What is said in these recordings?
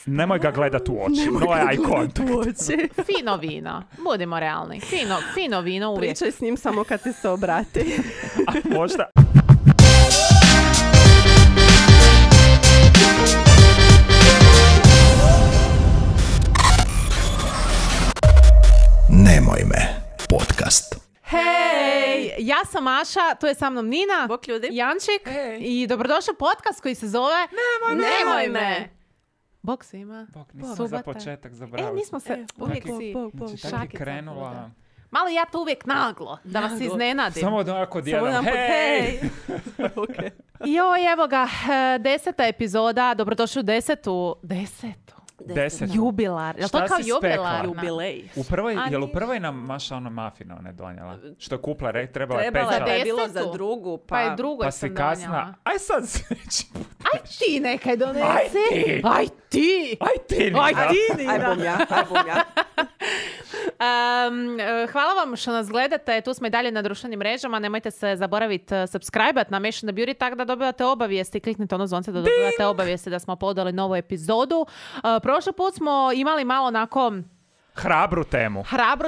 Nemoj ga gledat u oči. No eye contact. Fino vino. Budimo realni. Fino vino uvijek. Pričaj s njim samo kad ti se obrati. A možda... Nemoj me, podcast. Hej, ja sam Maša, tu je sa mnom Nina, Bok ljudi. Jančik i dobrodošli u podcast koji se zove Nemoj me. Bok svima. Bok, nisam Subota. za početak zabrao. Nismo se uvijek si Znači, tak je šakica. krenula... Malo ja to uvijek naglo, da vas iznenadim. Samo da ovako dijelam. Hej! Okay. Joj, evo ga, 10. epizoda, dobrodošli u 10. Jubilar. Jel to Šta kao si spekla? jubilarna? Jubilej. Jel u prvoj nam Maša ono mafino ne donijela? Što je kupla, trebala je Trebala pečat. je bilo Desetu. za drugu, Pa je drugo Pa sam si donijela. kasna. Aj sad sreći. Aj ti nekaj donesi. Aj ti. Aj ti. Nina. Aj bom ja. Hvala vam što nas gledate, tu smo i dalje na društvenim mrežama, nemojte se zaboraviti subscribe-at na Mešana Beauty tako da dobivate obavijesti, kliknite ono zvonce da dobivate obavijesti da smo uploadali novu epizodu. Prošli put smo imali malo onako Hrabru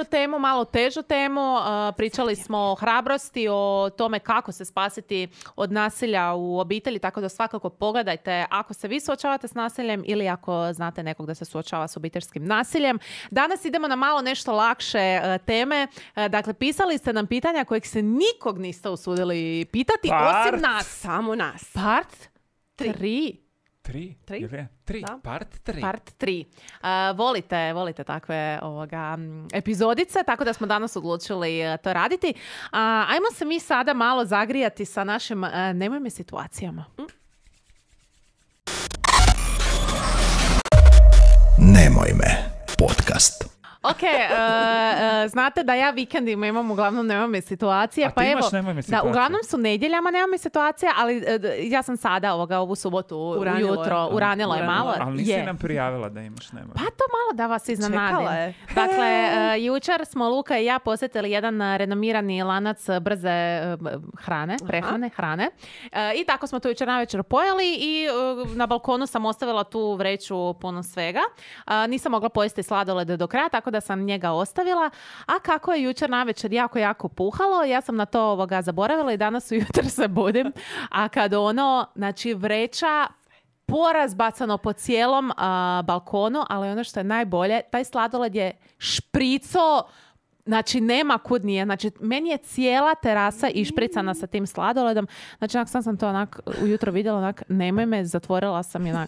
temu, malo težu temu, pričali smo o hrabrosti, o tome kako se spasiti od nasilja u obitelji, tako da svakako pogledajte ako se vi suočavate s nasiljem ili ako znate nekog da se suočava s obiteljskim nasiljem. Danas idemo na malo nešto lakše teme. Dakle, pisali ste nam pitanja kojeg se nikog niste usudili pitati, osim nas. Samo nas. Part 3. Tri? Da. Part 3. Volite takve epizodice, tako da smo danas odlučili to raditi. Ajmo se mi sada malo zagrijati sa našim nemoj me situacijama. Nemoj me, podcast. Ok, znate da ja vikendima imam uglavnom nemoj me situacije. A pa ti evo, imaš nemoj me situacije? Da, uglavnom su nedjeljama nemoj me situacije, ali ja sam sada ovu subotu ujutro uranila je malo. Ali nisi nam prijavila da imaš nemoj. Pa to malo da vas iznenadim. Čekala je. Dakle, jučer smo Luka i ja posjetili jedan renomirani lanac brze prehrane, hrane. I tako smo to jučer navečer pojeli i na balkonu sam ostavila tu vreću puno svega. Nisam mogla pojesti sladolede do kraja, tako da sam njega ostavila. A kako je jučer navečer jako puhalo, ja sam na to zaboravila i danas ujutro se budim. A kad znači vreća porazbacano po cijelom balkonu, ali ono što je najbolje, taj sladoled je šprico, znači nema kud nije. Znači, meni je cijela terasa išpricana sa tim sladoledom. Znači, sam to ujutro vidjela, nemoj me, zatvorila sam i ne.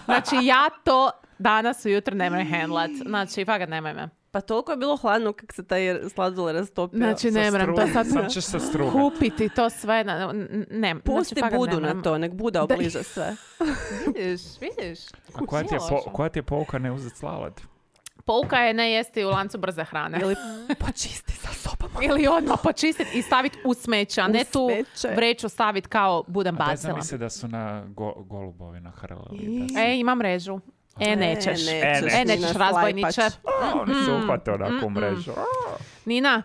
Znači, ja to danas ujutro nemoj handlat. Znači, fakat nemoj me. Pa toliko je bilo hladno kak se taj sladoled rastopio. Znači, ne moram to sad Sam ćeš sa strugom. kupiti to sve. Ne, Pusti znači, Budu na to, nek Buda obliže sve. Vidiš. A koja ti je pouka ne uzeti sladoled? Pouka je ne jesti u lancu brze hrane. Ili počisti sa sobom. Ili odmah počistiti i staviti u smeće, a ne tu vreću staviti kao budem A bacila. mi se da su na golubovi nahrlili. Ima mrežu. Nećeš. Nećeš, razbojniče. Oni se uhvate onako u mrežu. Nina,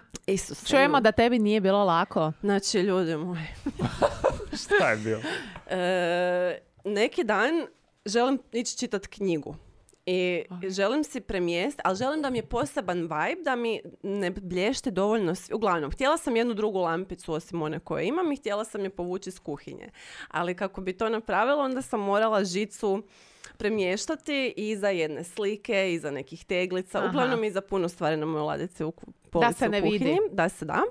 čujemo da tebi nije bilo lako. Znači, ljudi moji. Šta je bilo? Neki dan želim ići čitati knjigu. I želim si premjestiti, ali želim da mi je poseban vibe, da mi ne blješte dovoljno. Uglavnom, htjela sam jednu drugu lampicu osim one koje imam i htjela sam je povući iz kuhinje. Ali kako bi to napravila, onda sam morala žicu premještati iza jedne slike, iza nekih teglica. Uglavnom iza puno stvari na mojoj ladici u polici da se ne u kuhinji. vidi. Da se da.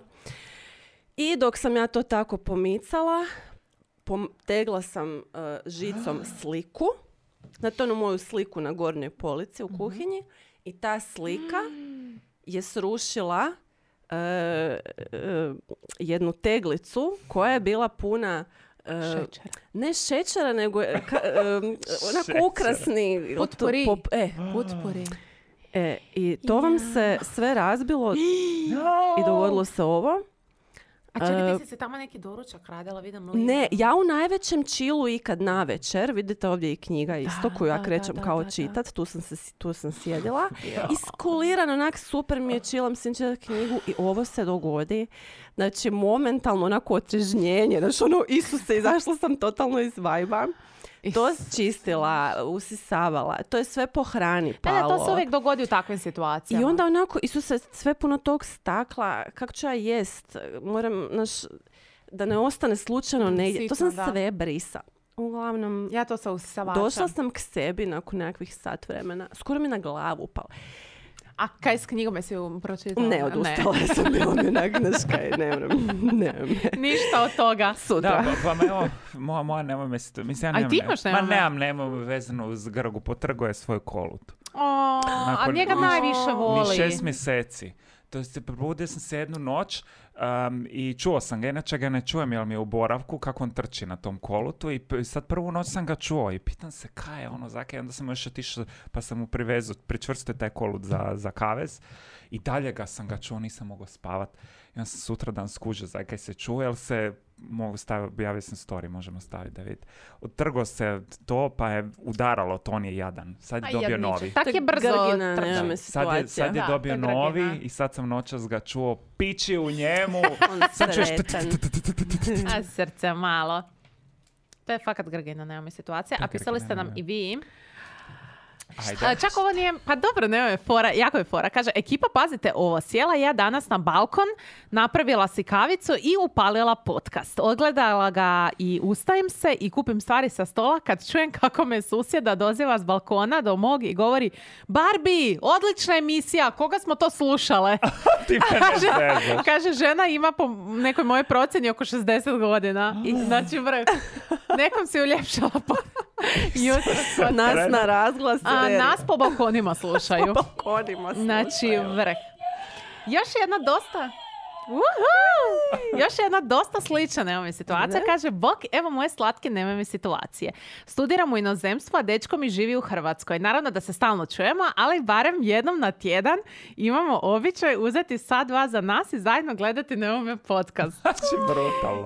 I dok sam ja to tako pomicala, tegla sam žicom sliku. Znate onu moju sliku na gornjoj polici u kuhinji i ta slika je srušila jednu teglicu koja je bila puna Šećer. ne šećera, nego onako ukrasni Potpori. Potpori. I to vam se sve razbilo i dogodilo se ovo. A čekaj, ti si tamo neki doručak radila, vidim li? Ne, ja u najvećem čilu ikad navečer, vidite ovdje i knjiga isto koju ja krećem kao čitat, tu sam sjedila. Iskulirano, onak super mi je čilam sam čitati knjigu i ovo se dogodi. Znači, momentalno onako otrežnjenje, znači ono, Isuse, izašla sam totalno iz vajba. to čistila, usisavala. To je sve po hrani palo. To se uvijek dogodi u takvim situacijama. I onda onako, Isuse, sve puno tog stakla, kako ću ja jest? Moram, da ne ostane slučajno negdje. To sam sve brisa. Uglavnom, ja to sa usisavačem. Došla sam k sebi nakon nekakvih sat vremena. Skoro mi na glavu upalo. A kaj s knjigom jesi pročitala? Ne, odustala sam, bilo mi onak, Ništa od toga. Sutra. Da, pa evo, moja nema mjesto. Mislim, ja ti imaš nema? Nemam vezano uz Grgu, potrguje svoj kolut. A njega najviše voli. 6 mjeseci. To je, probudio sam se jednu noć i čuo sam ga, inače ga ne čujem jer mi je u boravku kako on trči na tom kolutu i sad prvu noć sam ga čuo i pitam se kaj je ono, zakaj, onda sam još otišao pa sam mu pričvrstio taj kolut za kavez i dalje sam ga čuo, nisam mogao spavat. I onda sam sutra dan skužio zakaj se čuje, jer se mogu staviti, objavio sam story, možemo staviti da vidite. Otrgo se to, pa je udaralo, to on je jadan. Sad je dobio novi. Tak je brzo Sad je dobio novi i sad sam noćas ga čuo pići u njemu. Sad čuješ a srce malo. To je fakat Grgina, nema mi situacija. A pisali ste nam i vi. Čak ovo nije, pa dobro, ne, fora, jako je fora. Kaže, ekipa, pazite ovo, sjela ja danas na balkon, napravila si kavicu i upalila podcast. Odgledala ga i ustajem se i kupim stvari sa stola kad čujem kako me susjeda doziva s balkona do mog i govori, Barbie, odlična emisija, koga smo to slušale? Kaže, žena ima po nekoj mojoj procjeni oko 60 godina. Znači, nekom si uljepšala nas na razglas. Nas po balkonima slušaju. Znači, vrh. Još jedna dosta slična nema mi situacija. Kaže, bok, evo moje slatke nema mi situacije. Studiram u inozemstvu, a dečko mi živi u Hrvatskoj. Naravno da se stalno čujemo, ali barem jednom na tjedan imamo običaj uzeti sat, dva za nas i zajedno gledati Nemome podcast.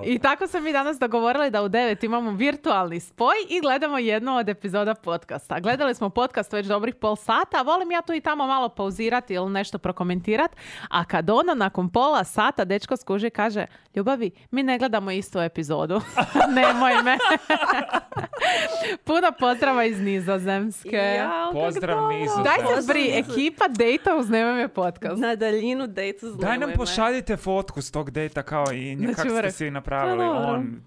I tako smo mi danas dogovorili da u 9 imamo virtualni spoj i gledamo jednu od epizoda podcasta. Gledali smo podcast već dobrih pol sata, volim ja tu i tamo malo pauzirati ili nešto prokomentirati, a kad ono nakon pola sata dečko skuži kaže, ljubavi, mi ne gledamo istu epizodu. Nemoj me. Puno pozdrava iz Nizozemske. Pozdrav Nizozemske. Daj se ekipa dejta uz Nemoj me podcast. Na daljinu dejta uz Nemoj me. Daj nam pošaljite fotku s tog dejta kao i kako ste si napravili. On,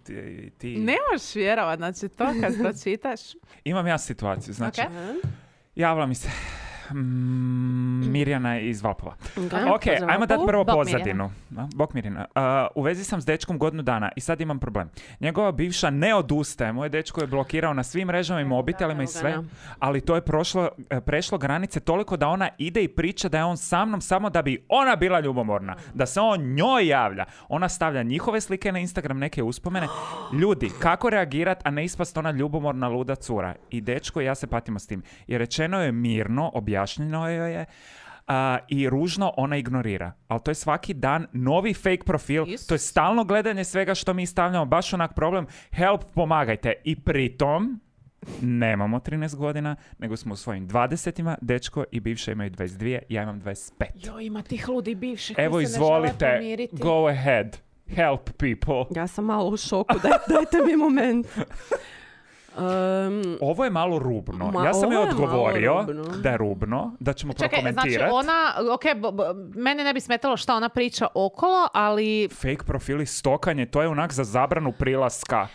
ti. Ne možeš vjerovat, znači to kad pročitaš. Imam ja situaciju, znači javila mi se Mirjana iz Valpova. Ok, ajmo dati prvo pozadinu. Bok Mirjana. U vezi sam s dečkom godinu dana i sad imam problem. Njegova bivša ne odustaje. Moj dečko je blokirao na svim mrežama i mobitelima i sve, ali to je prešlo granice toliko da ona ide i priča da je on sa mnom samo da bi ona bila ljubomorna. Da se on njoj javlja. Ona stavlja njihove slike na Instagram, neke uspomene. Ljudi, kako reagirat, a ne ispast ona ljubomorna luda cura? I dečko i ja se patimo s tim. I rečeno je mirno, objašnjeno je i ružno ona ignorira. Ali to je svaki dan novi fake profil. To je stalno gledanje svega što mi stavljamo. Baš onak problem. Help, pomagajte. I pritom nemamo 13 godina, nego smo u svojim 20-ima. Dečko i bivša imaju 22, ja imam 25. Jo, ima tih ludi bivših. Evo, izvolite. Go ahead. Help people. Ja sam malo u šoku. Dajte mi moment. Ovo je malo rubno. Ja sam joj odgovorio da je rubno, da ćemo prokomentirati. Znači ona, mene ne bi smetalo šta ona priča okolo, ali... Fake profili, stokanje, to je onak za zabranu prilaska.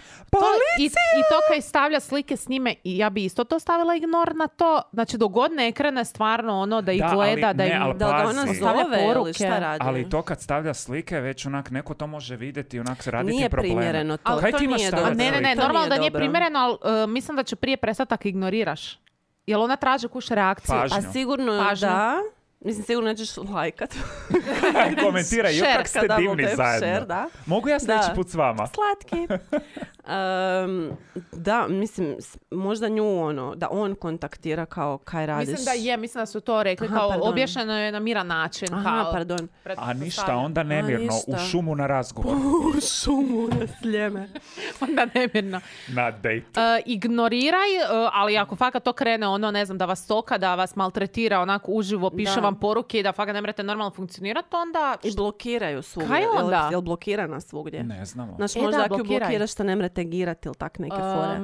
I to kaj stavlja slike s njime, i ja bi isto to stavila ignor na to. Znači, dogod ne krene stvarno ono da ih gleda, da ona stavlja poruke. Šta radi? Ali to kad stavlja slike, već onak neko to može vidjeti, onak se raditi nije probleme. Nije primjereno to. Kaj ti imaš stavljati? Ne, normalno da nije primjereno, ali mislim da će prije prestati ako ignoriraš. Jel ona traži kuš reakciju? A sigurno da. Mislim, sigurno nećeš lajkat. Komentiraj, kak ste divni zajedno. Mogu ja sljedeći put s vama? Slatki. Da, mislim, možda nju da on kontaktira kao kaj radiš. Mislim da su to rekli, kao objašnjeno je na miran način. Pardon. A ništa, onda nemirno, u šumu na razgovor. U šumu na sljeme. Onda nemirno. Na dejtu. Ignoriraj, ali ako fakat to krene ne znam, da vas stoka, da vas maltretira, onako uživo, piše vam poruke i da fakat ne morate normalno funkcionirati, onda... I blokiraju svugdje. Kaj onda? Jel blokirana svugdje? Ne znamo. Znači, možda ako ju blokiraš, što ne mre tegirati ili tak neke fore?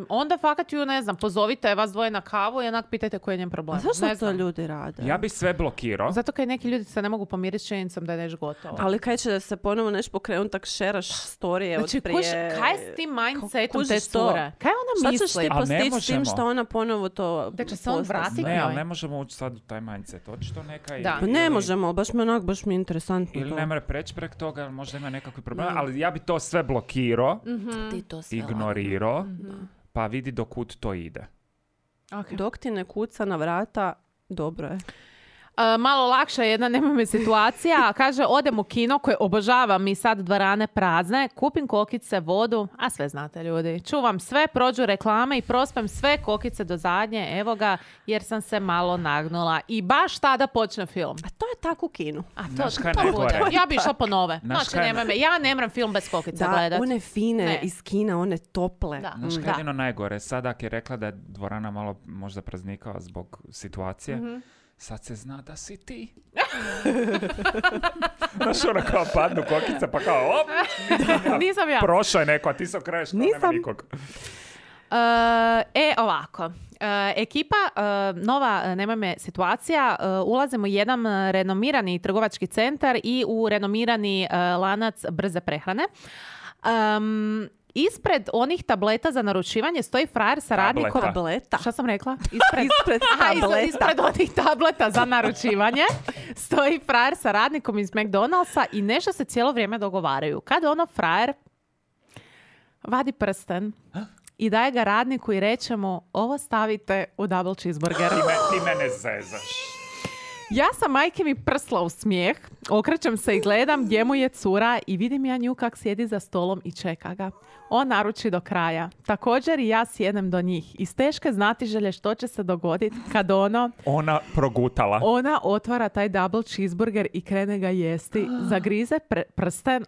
Onda fakat ju, ne znam, pozovite vas dvoje na kavu i onak pitajte koji je njen problem. A zašto to ljudi rade? Ja bi sve blokirao. Zato kaj neki ljudi se ne mogu pomiriti s činjenicom da je nešto gotovo. Ali kaj će da se ponovo nešto pokrenuti, tak šeraš storije znači, od prije... kaj je s tim mindsetom te cure? Kaj ona misli? Šta ćeš ti postići s tim što ona ponovo to da će se on vratiti? Ne, ali ne možemo ući sad u taj mindset. Očito neka da. Pa ne možemo, baš mi je interesantno. Ili ne mora preći prek toga, možda ima nekakvi problemi, ali ja bi to sve blokirao, ignorirao, pa vidi do kud to ide. Okay. Dok ti ne kuca na vrata, dobro je. Malo lakša jedna, nema mi situacija. Kaže, odem u kino koje obožavam i sad dvorane prazne, kupim kokice, vodu, a sve znate ljudi. Čuvam sve, prođu reklame i prospem sve kokice do zadnje, evo ga, jer sam se malo nagnula. I baš tada počne film. A to je tako u kinu. A to bude. Ja bi išla po nove. Znači, ja ne mram film bez kokica gledat. Da, one fine iz kina, one tople. Znaš kaj je jedino najgore? Sada ako je rekla da je dvorana malo možda praznikava zbog situacije, sad se zna da si ti. Znaš, ona kao padnu kokica, pa kao op! Nisam ja. Prošao je neko, a ti se okraješ kao nema nikog. Ovako. Ekipa, nova, nema me situacija, ulazimo u jedan renomirani trgovački centar i u renomirani lanac brze prehrane. Ispred onih tableta za naručivanje stoji frajer sa radnikom... Tableta. Šta sam rekla? Ispred tableta. Ispred onih tableta za naručivanje stoji frajer sa radnikom iz McDonald'sa i nešto se cijelo vrijeme dogovaraju. Kad ono frajer vadi prsten i daje ga radniku i reče mu, ovo stavite u double cheeseburger. Ti mene zezaš. Ja sam majke mi prsla u smijeh, okrećem se i gledam gdje mu je cura i vidim ja nju kak sjedi za stolom i čeka ga. On naruči do kraja. Također i ja sjednem do njih. Iz teške znatiželje što će se dogoditi kad ona progutala. Ona otvara taj double cheeseburger i krene ga jesti. Zagrize prsten,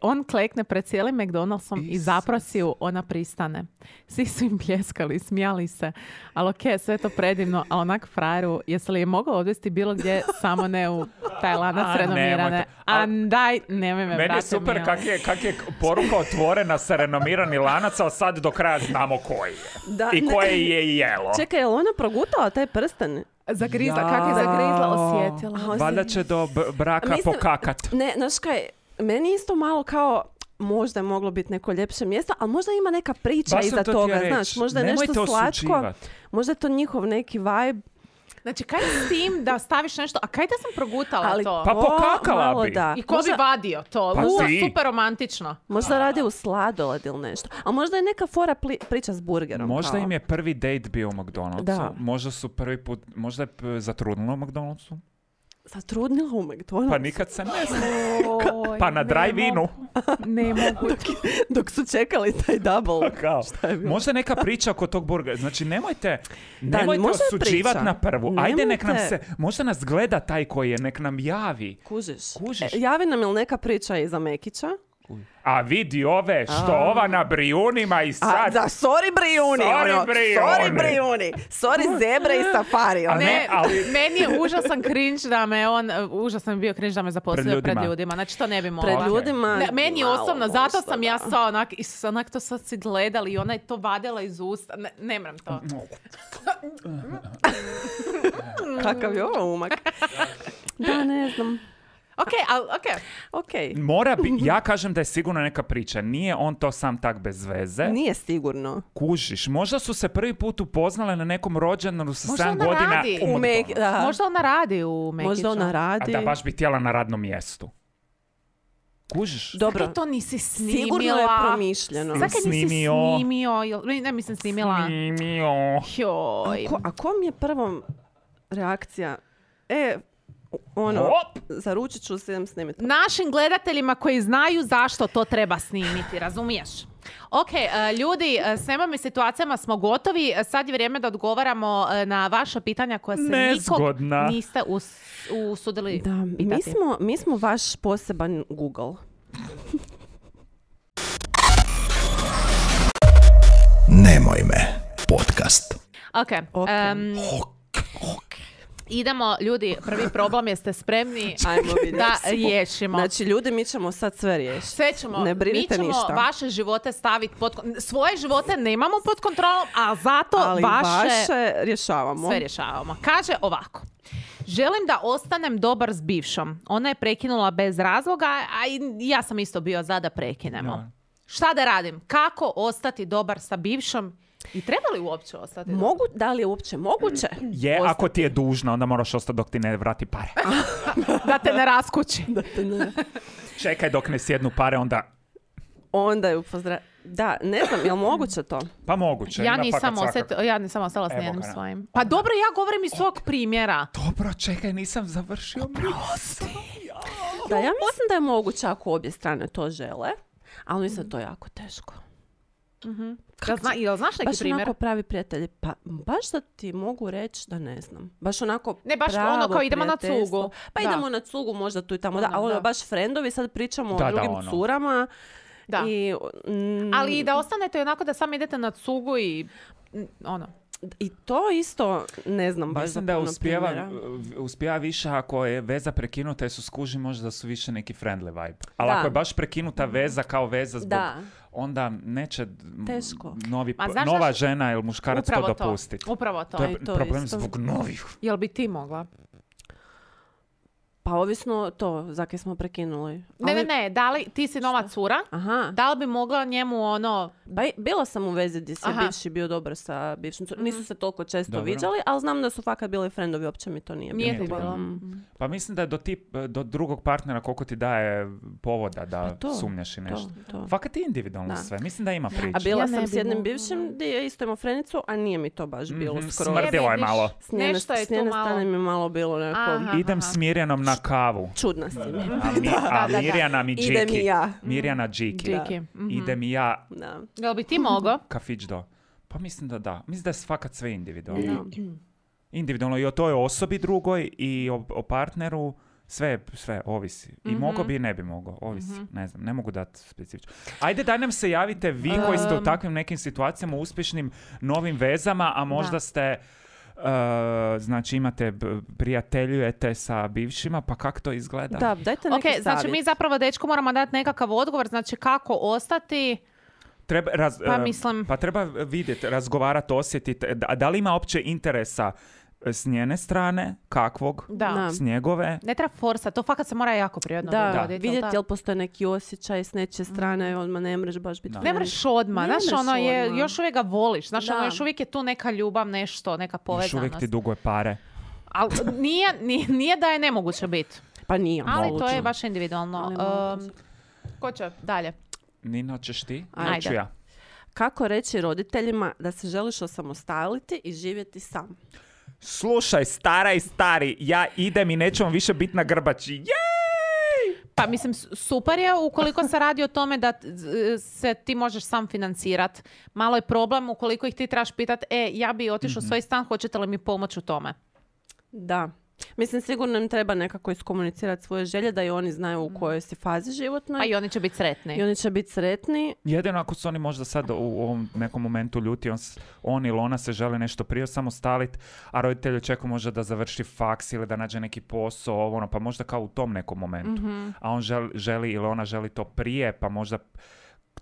on klekne pred cijelim McDonald'som i zaprosi ju, ona pristane. Svi su im pljeskali, smijali se. Ali okej, sve to predivno, a onak frajeru, jesi li je mogao odvesti bilo gdje, samo ne u taj lanac renomirane? Daj, nemoj me, meni je super kak je poruka otvorena sa renomirani lanac, ali sad do kraja znamo koji je. Da, i koje je jelo. Čekaj, je li ona progutala taj prsten? Zagrizla, kak je zagrizla, osjetila. Valjda će do braka pokakat. Ne, znaš kaj, meni isto malo kao, možda je moglo biti neko ljepše mjesto, ali možda ima neka priča iza toga, znaš, možda je nešto slatko, možda je to njihov neki vibe. Znači, kaj s tim da staviš nešto, a kaj da sam progutala to? Pa pokakala bi. Da. I ko bi vadio to? Pa super romantično. Možda radi u sladoled ili nešto. A možda je neka fora priča s burgerom. Možda im je prvi date bio u McDonald'su. Da. Možda su prvi put, možda je zatrudnilo u McDonald'su. Zatrudnila u McDonald'su? Pa nikad se ne zna. Pa na drive-inu. Ne mogu. Dok su čekali taj double. Možda neka priča oko tog burgera. Znači, nemojte osuđivati na prvu. Ajde, nek nam se, možda nas gleda taj koji je, nek nam javi. Kužiš. Javi nam ili neka priča iza Mekića? A vidi ove, što ova na Brijunima i sad... Da, sorry Brijuni. Sorry zebre i safari. Meni je užasan cringe da me užasan bio cringe da me zaposlio pred ljudima. Znači, to ne bi mogla. Pred ljudima... Meni osobno, zato sam ja sa onak to sad si gledali i ona je to vadila iz usta. Ne mram to. Kakav je ovo umak? Da, ne znam. Okay. Mora ja kažem da je sigurno neka priča. Nije on to sam tak bez veze. Nije sigurno. Kužiš. Možda su se prvi put upoznale na nekom rođendanu sa 7 godina Možda ona radi u Mekiću. Možda ona radi. A da baš bi htjela na radnom mjestu. Kužiš? Dobro. Zakaj to nisi snimila? Sigurno je promišljeno. Zakaj nisi snimio? Ne, mislim snimila. Joj. A kom je prvom reakcija? Zaručit ću se snimiti. Našim gledateljima koji znaju zašto to treba snimiti, razumiješ? Ok, ljudi, s nemam situacijama smo gotovi. Sad je vrijeme da odgovaramo na vaša pitanja koja se nikog niste usudili pitati. Mi smo vaš poseban Google. Nemoj me, podcast. Ok. Idemo, ljudi, prvi problem, jeste spremni da riješimo. Znači, ljudi, mi ćemo sad sve riješiti. Sve ćemo, ne brinite mi ćemo ništa. Vaše živote staviti svoje živote nemamo pod kontrolom, a zato ali vaše rješavamo. Sve rješavamo. Kaže ovako. Želim da ostanem dobar s bivšom. Ona je prekinula bez razloga, a i ja sam isto bio za da prekinemo. Ja. Šta da radim? Kako ostati dobar sa bivšom? I treba li uopće ostati? Da li je uopće moguće? Je, ostati. Ako ti je dužna, onda moraš ostati dok ti ne vrati pare. Da te ne raskući. Čekaj dok ne sjednu pare, onda ju Da, ne znam, je li moguće to? Pa moguće. Ja nisam ostala s nijednim svojim. Pa dobro, ja govorim iz svog primjera. Dobro, čekaj, nisam završio. Da, ja mislim da je moguće ako obje strane to žele, ali mislim da to je jako teško. Jel znaš neki primjer? Baš onako pravi prijatelji. Pa baš da ti mogu reći da ne znam. Baš onako baš ono kao idemo na cugu. Pa idemo na cugu možda tu i tamo. Ali baš frendovi, sad pričamo o drugim curama. Da. Ali i da ostanete onako da samo idete na cugu i I to isto ne znam baš. Mislim da uspijeva više ako je veza prekinuta jer su skuži možda da su više neki friendly vibe. Ali ako je baš prekinuta veza kao veza zbog... onda neće nova žena ili muškarac to dopustiti. Upravo to. To je problem zbog novih. Jel bi ti mogla? Pa ovisno to, za kaj smo prekinuli. Ne, da li ti si nova cura? Aha. Da li bi mogla njemu Bila sam u vezi gdje si bivši bio dobar sa bivšim curom. Nisu se toliko često viđali, ali znam da su fakat bili friendovi, uopće mi to nije bilo. Pa mislim da je do drugog partnera koliko ti daje povoda da sumnjaš i nešto. Fakat je individualno sve. Mislim da ima priča. A bila sam s jednim bivšim gdje je isto imao frenicu, a nije mi to baš bilo skoro. Smrdilo je malo. S njene strane mi je malo bilo neko... Idem s Mirjanom na kavu. Čudna si mi. A Mirjana mi Džiki. Idem i ja. Mirjana Džiki. Idem i ja. Jel bi ti mogao? Kafić do. Pa mislim da da. Mislim da je fakat sve individualno. Individualno i o toj osobi drugoj i o partneru. Sve ovisi. I mogao bi i ne bi mogao. Ovisi. Ne znam, ne mogu dati specifično. Ajde, daj nam se javite vi koji ste u takvim nekim situacijama, uspješnim novim vezama, a možda ste... znači imate prijateljujete sa bivšima, pa kako to izgleda? Da, dajte neki savjet. Znači mi zapravo dečku moramo dati nekakav odgovor, znači kako ostati... Pa treba vidjeti, razgovarati, osjetiti, da li ima opće interesa s njene strane, kakvog, s njegove. Ne treba forsa, to fakat se mora jako prirodno dogoditi. Vidjeti jel postoje neki osjećaj s nečije strane, odmah ne mreš baš biti. Ne mreš odmah, znaš, još uvijek ga voliš, znaš, još uvijek je tu neka ljubav, nešto, neka povezanost. Još uvijek ti duguje pare. Ali nije da je nemoguće biti. Pa nije. Ali to je baš individualno. Ko će dalje? Nino, ćeš ti? Ajde. Ja. Kako reći roditeljima da se želiš osamostaliti i živjeti sam? Slušaj, stara i stari, ja idem i nećemo više biti na grbači. Jej! Pa mislim, super je ukoliko se radi o tome da se ti možeš sam financirat. Malo je problem ukoliko ih ti trebaš pitat, ja bi otišao u svoj stan, hoćete li mi pomoći u tome? Da. Mislim, sigurno im treba nekako iskomunicirati svoje želje da i oni znaju u kojoj si fazi životnoj. A i oni će biti sretni. Jedino ako su oni možda sad u ovom nekom momentu ljuti, on ili ona se žele nešto prije samostaliti, a roditelj očekuje možda da završi faks ili da nađe neki posao, pa možda kao u tom nekom momentu. A on želi ili ona želi to prije, pa možda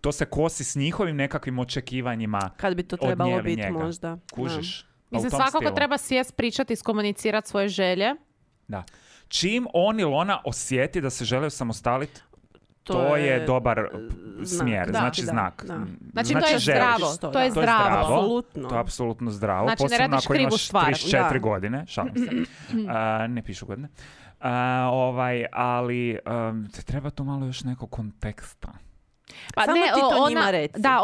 to se kosi s njihovim nekakvim očekivanjima. Kad bi to trebalo biti možda. Kužiš? Mislim, svakako treba sjest, pričati, iskomunicirati svoje želje. Da. Čim on ili ona osjeti da se žele osamostaliti, to je dobar smjer, znači znak. Znači to je zdravo. To je zdravo. Apsolutno. To je apsolutno zdravo. Znači ne radiš krivu stvar. 34 godine, šalim se. Ne pišu godine. Ali treba tu malo još nekog konteksta. Pa samo ti to njima reci. Da,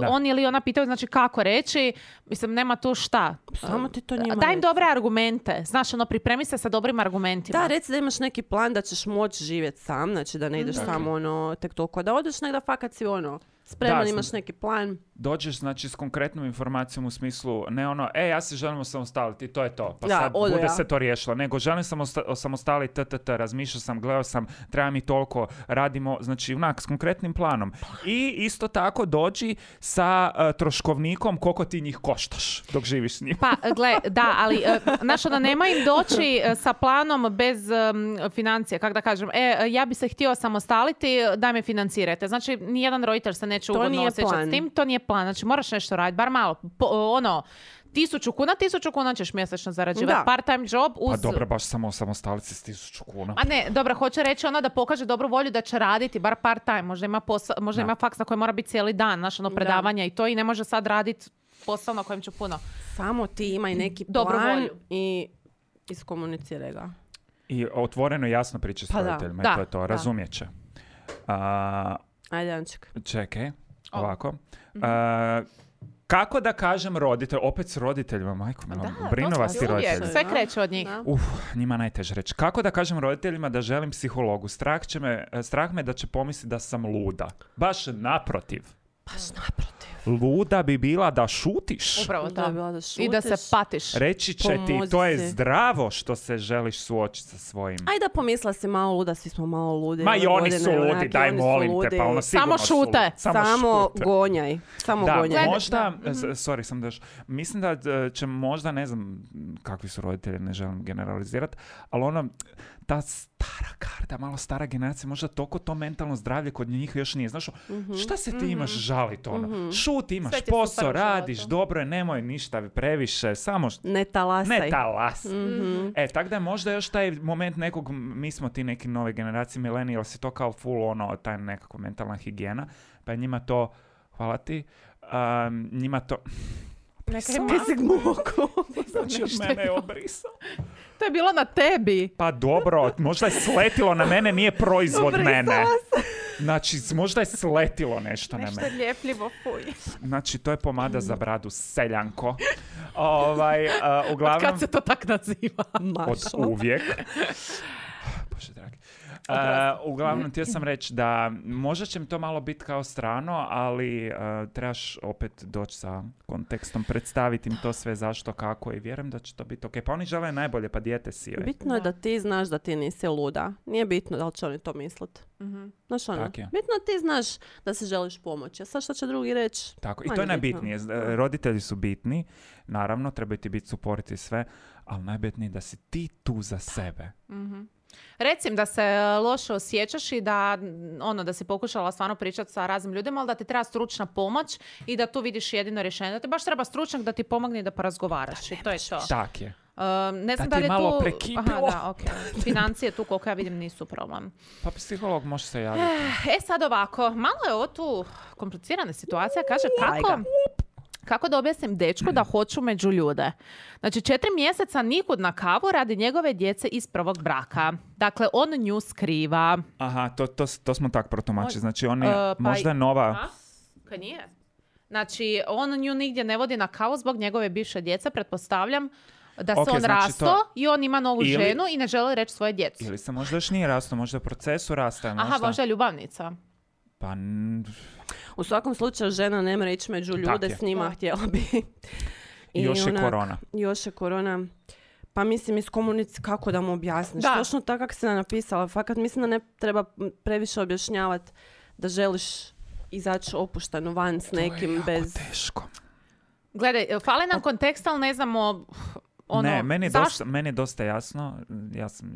on ili ona pitaju, znači kako reći, mislim, nema tu šta. Samo ti to njima reci. Daj im dobre argumente, znaš, pripremi se sa dobrim argumentima. Da, reci da imaš neki plan da ćeš moći živjeti sam, znači da ne ideš samo tek toliko, da odeš negdje fakat si Spreman, imaš neki plan. Dođeš, znači, s konkretnom informacijom u smislu, ne ono, ja se želim osamostaliti, to je to. Pa da, sad bude se to riješilo. Nego, želim sam osamostaliti, razmišljao sam, gledao sam, treba mi toliko, radimo, znači, onak, s konkretnim planom. I isto tako dođi sa troškovnikom koliko ti njih koštaš dok živiš s njim. Pa, gle, da, ali, znaš, ono, nema im doći sa planom bez financija, kako da kažem, ja bi se htio osamostaliti, daj me financirajte. Znači, nijedan roditelj se neće ugodno osjećati s tim, to nije plan. Znači, moraš nešto raditi, bar malo. 1000 kuna ćeš mjesečno zarađivati. Part-time job uz... Pa dobro, baš samo osamostaliti s 1000 kuna. A ne, dobro, hoće reći da pokaže dobru volju da će raditi, bar part-time. Možda ima faks na koji mora biti cijeli dan, znaš, predavanja i to, i ne može sad raditi posao na kojem će puno. Samo ti imaj neki dobru plan volju. I iskomuniciraj ga. I otvoreno jasno priča s roditeljima. To je to, razumijet će. Ajde, Anček. Čekaj, ovako. Kako da kažem roditelj, opet s roditeljima, majko, brinovasti roditelji. Sve kreće od njih. Njima najteže reći. Kako da kažem roditeljima da želim psihologu? Strah me da će pomisliti da sam luda. Baš naprotiv. Luda bi bila da šutiš. Upravo da šutiš. I da se patiš. Reći će ti, to je zdravo što se želiš suočiti sa svojim. Ajde da pomisla si malo luda, svi smo malo ludi. Ma i oni su ludi, daj molim te, pa ono sigurno samo šute. Samo gonjaj. Možda, mislim da će možda, ne znam kakvi su roditelji, ne želim generalizirati, ali ono, ta stara karta, malo stara generacija, možda toliko to mentalno zdravlje kod njih još nije. Znaš, šta se ti imaš žaliti ono? Šuti, imaš posao, radiš, dobro je, nemoj ništa previše, samo... Ne talasaj. Tako da je možda još taj moment nekog, mi smo ti neki nove generacije, millennials, je to kao full ono, taj nekako mentalna higijena, pa je njima to, hvala ti, njima to... Znači, od mene je obrisao. To je bilo na tebi. Pa dobro, možda je sletilo na mene, nije proizvod mene. Znači, možda je sletilo nešto na mene. Nešto ljepljivo, fuj. Znači, to je pomada za bradu, seljanko. Uglavnom... Od kad se to tak naziva? Od uvijek. Bože dragi. Uglavnom, htio sam reći da možda će mi to malo biti kao strano, ali trebaš opet doći sa kontekstom, predstaviti im to sve zašto, kako, i vjerujem da će to biti ok. Pa oni žele najbolje, pa dijete si. Bitno je da ti znaš da ti nisi luda. Nije bitno da li će oni to misliti. Znaš ono, bitno da ti znaš da se želiš pomoći. A sad što će drugi reći? Tako, i to je najbitnije. Roditelji su bitni, naravno, trebaju ti biti suporiti sve, ali najbitnije je da si ti tu za sebe. Recim da se loše osjećaš i da si pokušala stvarno pričati sa raznim ljudima, ali da ti treba stručna pomoć i da tu vidiš jedino rješenje. Da ti baš treba stručnjak da ti pomogne i da porazgovaraš. I to je to. Tak je. Ne znam da li je malo tu... Okay. Financije tu, koliko ja vidim, nisu problem. Pa psiholog može se javiti. Sad ovako, malo je ovo tu komplicirana situacija. Kaže, kako da objasnim dečku da hoću među ljude? Znači, 4 mjeseca nikud na kavu radi njegove djece iz prvog braka. Dakle, on nju skriva. Aha, to smo tak protumačili. Znači, on je možda je nova... Kaj nije? Znači, on nju nigdje ne vodi na kavu zbog njegove bivše djece, pretpostavljam da se on rasto i on ima novu ženu i ne želi reći svoje djeci. Ili se možda još nije rasto, možda je u procesu rasta. Aha, možda je ljubavnica. Pa... U svakom slučaju žena ne mora ići među ljude, s njima htjela bi. I još je korona. Još je korona. Pa mislim, kako da mu objasniš? Točno tako kako si napisala. Fakat mislim da ne treba previše objašnjavati da želiš izaći opušteno van s nekim bez... To je jako teško. Gledaj, fali nam kontekst, ali ne znamo... meni je dosta jasno. Ja sam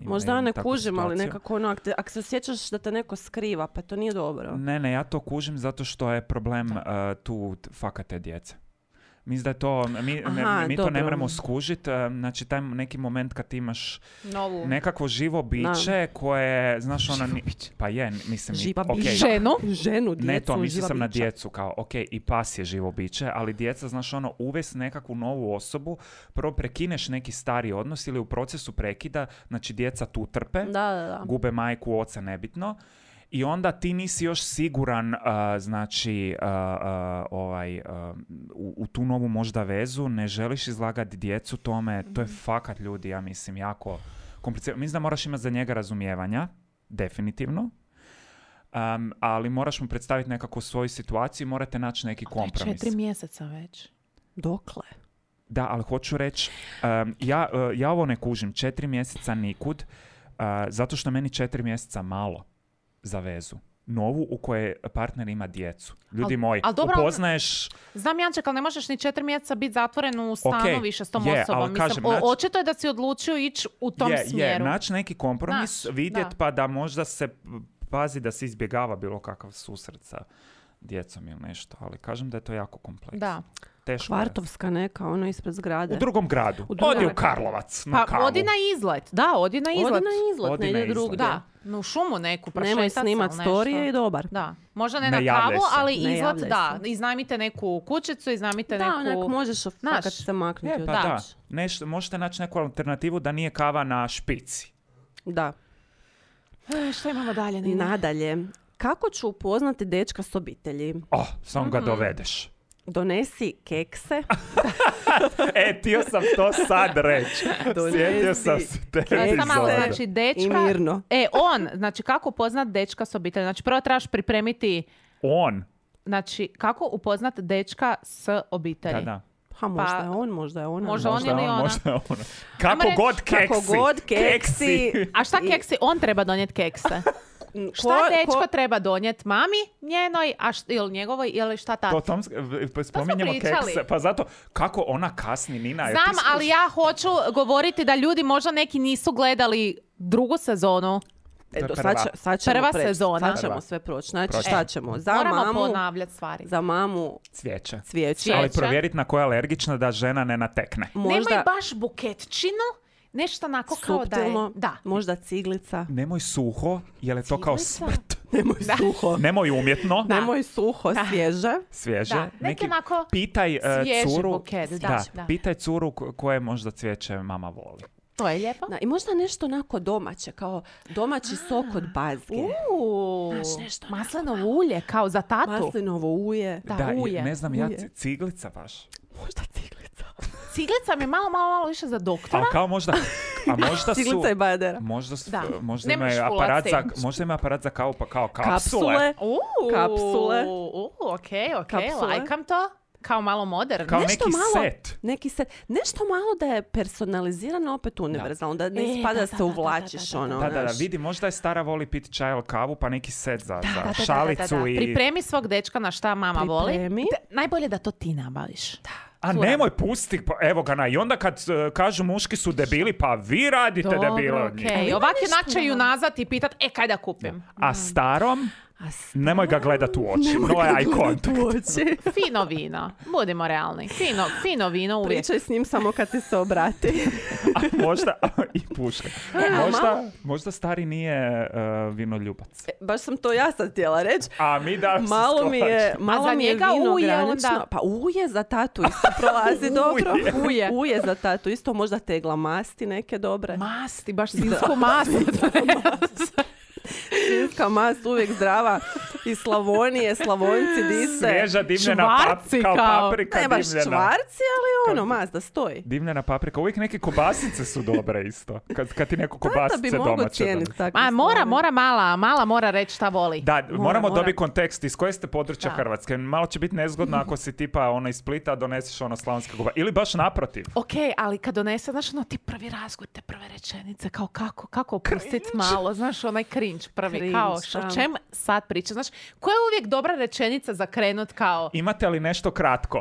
možda ja ne kužim, ali nekako ako se osjećaš da te neko skriva, pa to nije dobro. Ne, ja to kužim zato što je problem tu fakate djece. Mislim da je to, mi to ne moramo skužiti. Znači, taj neki moment kad imaš nekakvo živo biće koje, znaš, ono... Pa je, mislim... Ženu, djecu, ne to, mislim sam na djecu, kao, ok, i pas je živo biće, ali djeca, znaš, ono, uvesti nekakvu novu osobu, prvo prekineš neki stari odnos ili u procesu prekida, znači, djeca tu trpe, gube majku, oca, nebitno. I onda ti nisi još siguran, u tu novu možda vezu, ne želiš izlagati djecu tome, to je fakat, ljudi, ja mislim, jako komplicirano. Mislim da moraš imati za njega razumijevanja, definitivno. ali moraš mu predstaviti nekakvu svoju situaciju i morate naći neki kompromis. 4 mjeseca već. Dokle? Da, ali hoću reći, ja ovo ne kužim, 4 mjeseca nikud, zato što meni 4 mjeseca malo za vezu. Novu u kojoj partner ima djecu. Ljudi moji, upoznaješ... Znam, Janček, ali ne možeš ni 4 mjeseca biti zatvoren u stanu više s tom osobom. Kažem, očito je da si odlučio ići u tom smjeru. Naći neki kompromis, vidjeti pa da možda se pazi da se izbjegava bilo kakav susret sa djecom ili nešto. Ali kažem da je to jako kompleksno. Da. Teško Kvartovska neka, ono ispred zgrade. U drugom gradu. Odi u Karlovac na kavu. Odi na izlet. Da, odi na izlet. Ne ide drugdje. Da, u šumu neku. Nemoj snimat storije i dobar. Da. Možda ne na kavu, ali izlet, da. Iznajmite neku kućicu, iznajmite neku... Da, onak možeš fakat se maknuti. Da. Možete naći neku alternativu da nije kava na špici. Da. Što imamo dalje? Nadalje. Kako ću upoznati dečka s obitelji? Samo ga dovedeš. Donesi kekse. Htio sam to sad reći. Sjetio sam se te malo, znači dečka. I mirno. Znači kako upoznat dečka s obitelji? Znači prvo trebaš pripremiti... Znači kako upoznat dečka s obitelji? Da. Možda je on, možda je ona. Možda on ili ona. Kako god keksi. A šta keksi? On treba donijeti kekse. Šta dečko treba donijeti mami njenoj, ili njegovoj, ili šta tati? Spominjemo kekse, pa zato kako ona kasni, Nina. Znam, ali ja hoću govoriti da ljudi možda neki nisu gledali drugu sezonu. Prva sezona. Sad ćemo sve proći. Znači šta ćemo? Moramo ponavljati stvari. Za mamu cvijeće. Ali provjeriti na koja je alergična da žena ne natekne. Nemoj baš buketčinu. Nešto onako kao da je... Da. Možda ciglica. Nemoj suho, jer je to kao smrt. Nemoj suho. Nemoj umjetno. Nemoj suho, svježe. Da. Neki onako pitaj curu, buket. Pitaj curu koje možda cvijeće mama voli. To je lijepo. I možda nešto onako domaće, kao domaći sok od bazge. Maslinovo ulje, kao za tatu. Maslinovo ulje. Ulje. Ne znam, ciglica baš. Možda ciglica. Ciglica mi je malo više za doktora. A kao možda su... Ciglica i bajadera. Možda ima aparat za kavu, pa kao kapsule. Kapsule. Okej, lajkam to. Kao malo moderno. Kao neki set. Nešto malo da je personalizirano, opet univerzalno. Da ne ispada da se uvlačiš. Da, vidi, možda je stara voli piti čaj ili kavu, pa neki set za šalicu. I... Pripremi svog dečka na šta mama voli. Najbolje da to ti nabaviš. A nemoj pusti, evo ga i onda kad kažu muški su debili, pa vi radite debile od njih. Ovak je načeju nazad i pitat, kaj da kupim? A starom? Nemoj ga gledat u oči. No eye contact. Fino vino. Budimo realni. Fino vino uvijek. Pričaj s njim samo kad ti se obrati. A možda i puška. Možda stari nije vinoljubac. Baš sam to ja sad htjela reći. A mi da se malo mi je vino granično. Pa uje za tatu isto prolazi dobro. Uje za tatu isto. Možda tegla masti neke dobre. Masti, baš svinsku mast. Svinska mast uvijek zdrava. Iz Slavonije, Slavonci dise. Svježa dimljena kao paprika. Ne baš čvarci, ali mast da stoji. Dimljena paprika. Uvijek neke kobasice su dobre isto. Kad ti neko kobasice domaće. Mala mora reći šta voli. Da, moramo dobiti kontekst iz koje ste područja Hrvatske. Malo će biti nezgodno ako si tipa iz Splita doneseš slavonske kobasice. Ili baš naprotiv. Ok, ali kad donese, znaš ti prvi razgovor, te prve rečenice, kao kako opustiti malo, znaš onaj cringe prvi, kao o čem sad priča, znaš, koja je uvijek dobra rečenica za krenut kao... Imate li nešto kratko?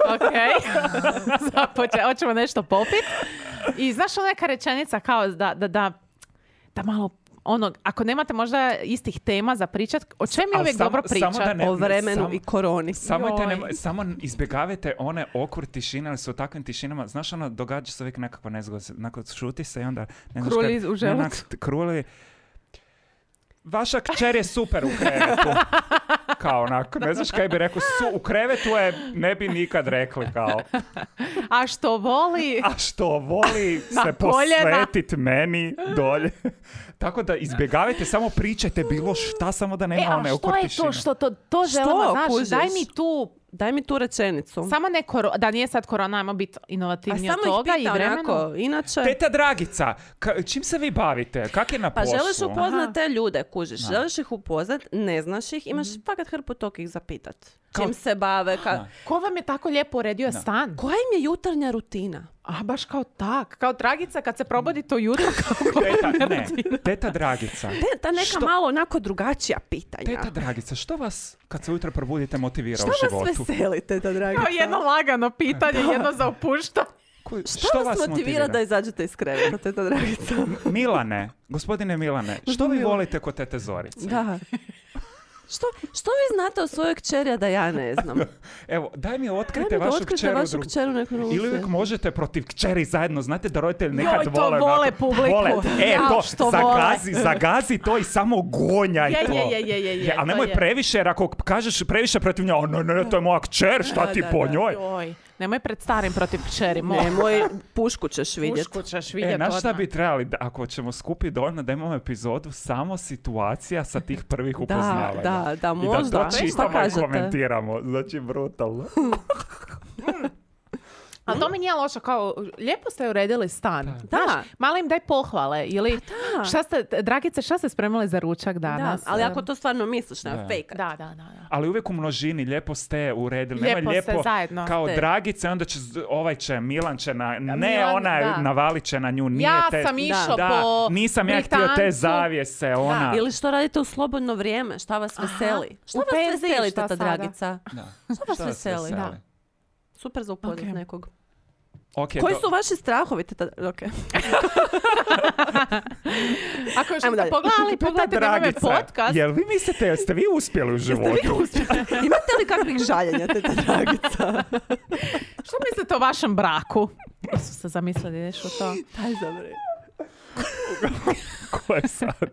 Ok, hoćemo nešto popit. I znaš neka rečenica kao da malo ako nemate možda istih tema za pričat, o čem je uvijek dobro pričat? O vremenu i koroni. Samo izbjegavajte one awkward tišine, ali su u takvim tišinama, znaš događa se uvijek nekakva nezgoda, nakon šuti se i onda... Kruli u želucu. Kruli... Vaša kćer je super u krevetu. Kao onako, ne znaš kaj bi rekao, u krevetu je, ne bi nikad rekli kao. A što voli se posvetit meni dolje. Tako da izbjegavajte, samo pričajte bilo šta, samo da nema one awkward tišine. A što je to želimo, znaš, daj mi tu daj mi tu rečenicu. Samo ne da nije sad korona, ajmo biti inovativniji od toga i vremenu. Inače... Teta Dragica, čim se vi bavite? Kak je na poslu? Pa želiš upoznat te ljude, kužiš. Da. Želiš ih upoznat, ne znaš ih, imaš fakat hrpu tog ih zapitat. Čim se bave. Ko vam je tako lijepo uredio stan? Koja im je jutarnja rutina? A baš kao tak. Kao Dragica kad se probudi to jutro. Teta Dragica. Ta neka malo onako drugačija pitanja. Teta Dragica, što vas kad se ujutro probudite motivira u životu? Što vas veseli, Teta Dragica? Kao jedno lagano pitanje, jedno za opuštanje. Što vas motivira da izađete iz kreveta, Teta Dragica? Milane, gospodine Milane, što vi volite kod tete Zorice? Da. Što vi znate o svojoj kćeri, a da ja ne znam? Evo, daj mi otkrite vašu kćeru. Ili uvijek možete protiv kćeri zajedno. Znate da roditelji nekad vole publiku. Zagazi to i samo gonjaj to. Ali nemoj previše, jer ako kažeš previše protiv nje, ne, to je moja kćer, šta ti po njoj? Nemoj pred starim protiv kćeri. Nemoj, pušku ćeš vidjeti. Znaš šta bi trebali, ako ćemo skupiti dovoljno da imamo epizodu, samo situacija sa tih prvih upoznavanja. Da, možda. I da to čitamo i komentiramo. Znači, brutalno. Ali to mi nije loše, kao lijepo ste uredili stan. Da. Malo im daj pohvale. Ili Dragice, šta ste spremali za ručak danas? Da, ali ako to stvarno misliš, ne fake. Da. Ali uvijek u množini, lijepo ste uredili. Lijepo zajedno. Kao Dragice, onda će, Milan će navalit će na nju. Ja sam išao po nisam ja htio te zavjese. Ili što radite u slobodno vrijeme, šta vas veseli? Šta vas veseli, Teta Dragica? Šta vas veseli? Super za upoznat nekog. Koji su vaši strahovi? Okay. Ako još ste pogledajte na ovaj podcast. Jel vi mislite, jeste vi uspjeli u životu? Imate li kakvih žaljenja, Teta Dragica? Što mislite o vašem braku? Su se zamislili, ideš u to? Daj zabri. Ko je sad?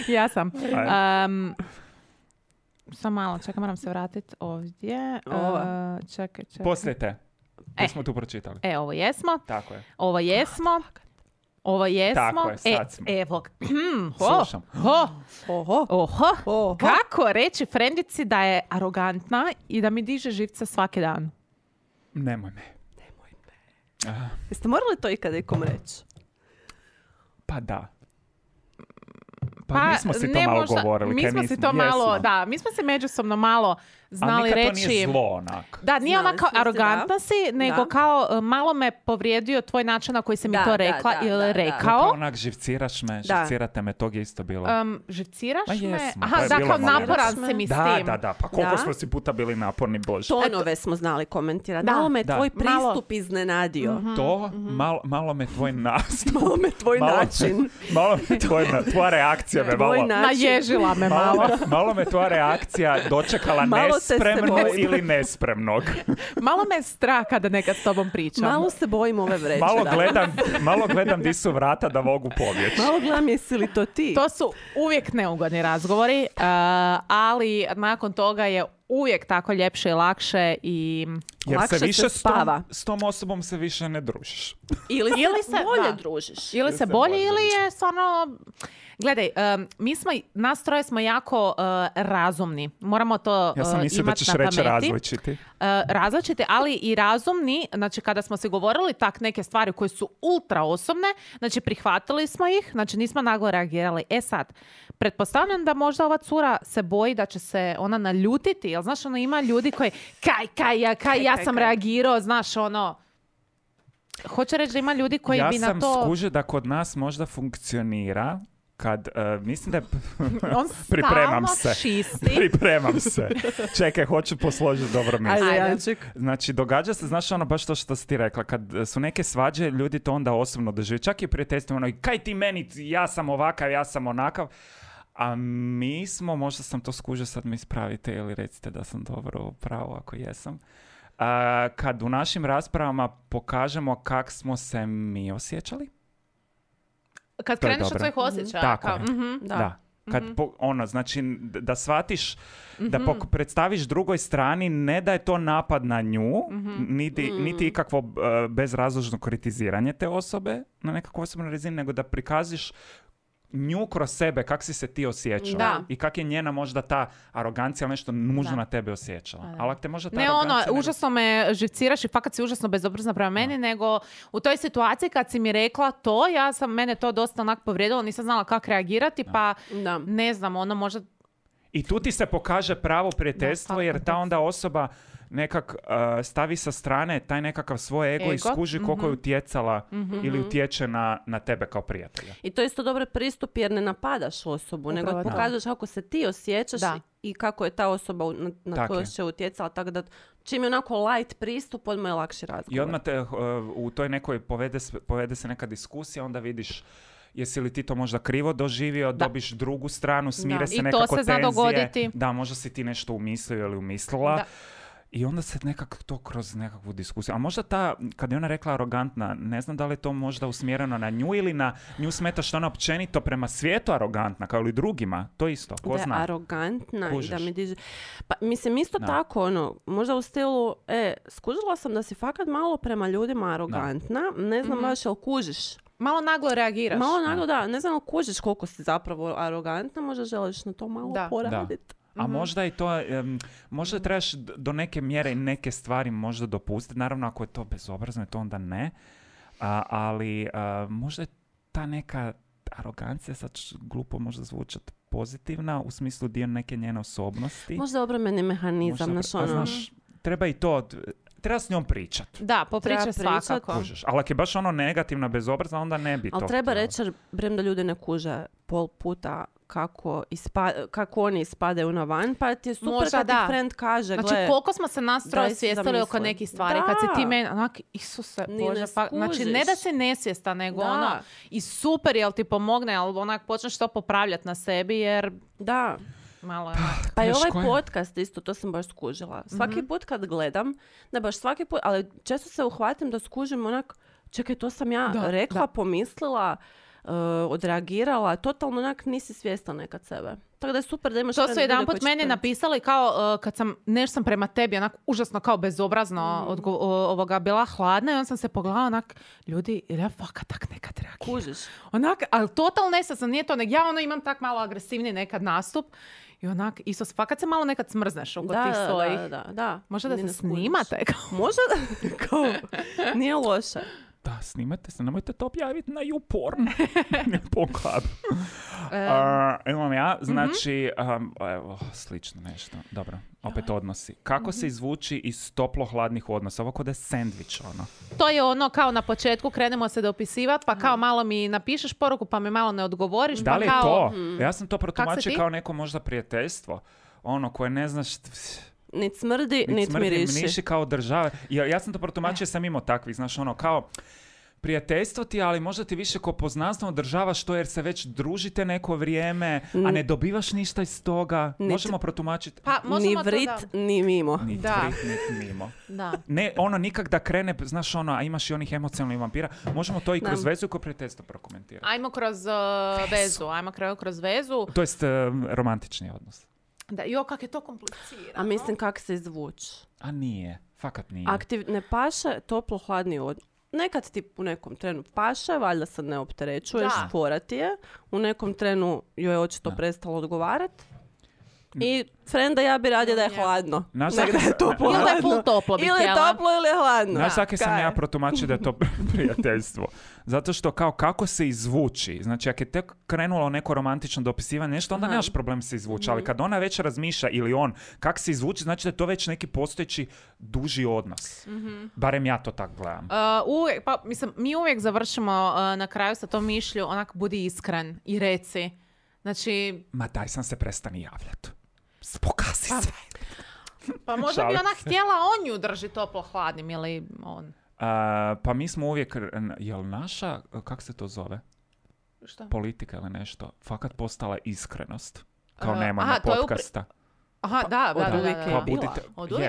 Ja sam. Samo malo, čekaj, moram se vratiti ovdje. Čekaj. Poslijete. Smo tu pročitali. Ovo jesmo. Tako je. Ovo jesmo. Tako je, sad smo. Evo. Slušam. Kako reći frendici da je arogantna i da mi diže živce svaki dan? Nemoj me. Jeste morali to ikada ikom reći? Pa da. Pa mi smo si to malo govorili. Mi smo se međusobno malo znali reći. Ali to nije zlo onak. Da, nije onako arogantna si, nego kao malo me povrijedio tvoj način na koji si mi to rekla ili rekao. Kao onak živcirate me, tog je isto bilo. Živciraš me? Aha, da, kao naporan si mi s tim. Da, pa koliko smo si puta bili naporni, Bože. Tonove smo znali komentirati. Malo me tvoj pristup iznenadio. To, malo me tvoj nastup. Malo me tvoj način. Malo me tvoja reakcija me malo. Naježila me malo. Malo me tvoja reakcija dočekala nespremno ili nespremnog. Malo me je strah kada nekad s tobom pričam. Malo se bojim ove vreće. Malo gledam di su vrata da mogu pobjeći. Malo gledam jesi li to ti. To su uvijek neugodni razgovori, ali nakon toga je uvijek tako ljepše i lakše i jer lakše se više spava. S tom osobom se više ne družiš. Ili se bolje družiš. Ili se bolje ili je stvarno... Gledaj, nas troje smo jako razumni. Moramo to imati na pameti. Ja sam mislio da ćeš reći različiti. Različiti, ali i razumni. Znači, kada smo se govorili tak neke stvari koje su ultra osobne, znači, prihvatili smo ih, znači, nismo naglo reagirali. Sad, pretpostavljam da možda ova cura se boji da će se ona naljutiti. Jel, znaš, ima ljudi koji, ja sam reagirao, znaš, ono... Hoće reći da ima ljudi koji bi na to... Ja sam skužio da kod nas možda funkcionira kad, mislim da je... On Pripremam se. Čekaj, hoću posložiti dobro mjesto. Ajde. Znači, događa se, znaš ono, baš to što si ti rekla, kad su neke svađe, ljudi to onda osobno dožive. Čak i prijateljstvo, ono, kaj ti meni, ja sam ovakav, ja sam onakav. A mi smo, možda sam to skužio, sad mi ispravite ili recite da sam dobro pravo ako jesam. Kad u našim raspravama pokažemo kak smo se mi osjećali. Kad kreneš od svojih osjećaja. Tako je. Da. Kad znači da shvatiš, da predstaviš drugoj strani, ne da je to napad na nju, niti ikakvo bezrazložno kritiziranje te osobe na nekakvoj osobnoj razini, nego da prikaziš nju kroz sebe, kak si se ti osjećala i kak je njena možda ta arogancija nešto nužno na tebe osjećala. Ali te možda ta arogancija... Užasno me živciraš i fakat si užasno bezobrazna prema meni, nego u toj situaciji kad si mi rekla to, mene to dosta onak povrijedilo, nisam znala kako reagirati, pa ne znam, ono možda... I tu ti se pokaže pravo prijateljstvo, jer ta onda osoba nekak stavi sa strane taj nekakav svoj ego i skuži koliko je utjecala ili utječe na tebe kao prijatelja. I to je isto dobar pristup jer ne napadaš osobu, nego pokažeš kako se ti osjećaš i kako je ta osoba na koju se utjecala. Tako da čim je onako light pristup, odmah je lakši razgovor. I odmah te u toj nekoj povede se neka diskusija, onda vidiš jesi li ti to možda krivo doživio, dobiš drugu stranu, smire se nekako tenzije. Da, možda si ti nešto umislio ili umislila. I onda se nekako to kroz nekakvu diskusiju. A možda kad je ona rekla arogantna, ne znam da li je to možda usmjereno na nju ili na nju smeta što ona općenito prema svijetu arogantna, kao ili drugima. To isto, ko zna. Da je arogantna i da mi diže... Pa mislim isto tako, možda u stilu, skužila sam da si fakat malo prema ljudima arogantna, ne znam baš jel kužiš. Malo naglo reagiraš. Malo naglo, da. Ne znam jel kužiš koliko si zapravo arogantna, možda želiš na to malo poraditi. A možda i to, možda trebaš do neke mjere i neke stvari možda dopustiti. Naravno, ako je to bezobrazno, to onda ne. Ali možda je ta neka arogancija, sad glupo možda zvučati, pozitivna, u smislu dio neke njene osobnosti. Možda obrambeni mehanizam. Znaš, treba i to... Treba s njom pričati. Da, popričati svakako. Ali ako je baš ono negativna, bezobrazna, onda ne bi to. Ali treba reći, brem da ljudi ne kuže pol puta kako oni ispadaju na van, pa ti je super možda kad ti friend kaže, znači koliko smo se nas troje svijestali oko nekih stvari, kad si ti meni, onak, Isuse Bože, pa, znači ne da si nesvijesta, nego ono, i super, jel ti pomogne, ali onak počneš to popravljati na sebi, jer... Da. Malo je. Pa i ovaj podcast isto, to sam baš skužila. Svaki put kad gledam, ne baš svaki put, ali često se uhvatim da skužim onak, čekaj, to sam ja rekla, pomislila, odreagirala, totalno onak nisi svjesna nekad sebe. Tako da je super da imaš... To su jedan put meni napisali kao kad sam, nešto sam prema tebi onak užasno kao bezobrazno bila hladna i on sam se pogledala onak, ljudi, ili ja fakat tak nekad reagiram. Kužiš. Onak, ali totalno nesasno, nije to, ja imam tak malo agresivni nekad nastup i onak, isto fakat se malo nekad smrzneš oko tih svojih. Da. Možda da se snimate. Možda da, nije loše. Da, snimate se, nemojte to objaviti na YouPorn. Imam ja, znači, evo, slično nešto. Dobro, opet odnosi. Kako se izvući iz toplo-hladnih odnosa? Ovo kod je sandvič, ono. To je ono, kao na početku krenemo se dopisivati, pa kao malo mi napišeš poruku, pa mi malo ne odgovoriš. Da li pa kao... je to? Ja sam to protumačio kao neko možda prijateljstvo. Ono, koje ne znaš... Nit smrdi, nit miriši kao države. Ja sam to protumačio, sam imao takvih, znaš, ono, kao prijateljstvo ti, ali možda ti više ko poznanstvo održavaš to jer se već družite neko vrijeme, a ne dobivaš ništa iz toga. Možemo protumačiti. Pa, ni vrit, ni mimo. Ni vrit, ni mimo. Da. Ne, ono, nikak da krene, znaš, ono, a imaš i onih emocionalnih vampira. Možemo to i kroz vezu i kroz prijateljstvo prokomentirati. Ajmo kroz vezu. Ajmo kroz vezu. To jest romantični odnos. Da, kak je to komplicirano. A mislim kak se izvući. A nije, fakat nije. Ne paše toplo-hladni odnos. Nekad ti u nekom trenu paše, valjda se ne opterećuješ, fora ti je. U nekom trenu joj je očito prestalo odgovarati. I frenda ja bi radila da je hladno. Nek da je toplo. Ili da je full toplo. Ili je toplo ili je hladno. Znaš svake sam ja protumačio da je to prijateljstvo. Zato što kako se izvući. Znači, ako je tek krenulo neko romantično dopisivanje nešto, onda nemaš problem se izvući. Ali kad ona već razmišlja ili on kako se izvući, znači da je to već neki postojeći duži odnos. Barem ja to tako gledam. Mi uvijek završimo na kraju sa tom mišlju, onak budi iskren i reci. Znači... Ma daj sam se prestani javljati. Pokasi se. Pa možda bi ona htjela on ju drži toplo hladnim ili on. Pa mi smo uvijek, jel naša, kako se to zove? Šta? Politika ili nešto, fakat postala iskrenost. Kao nema podcasta. Aha, da.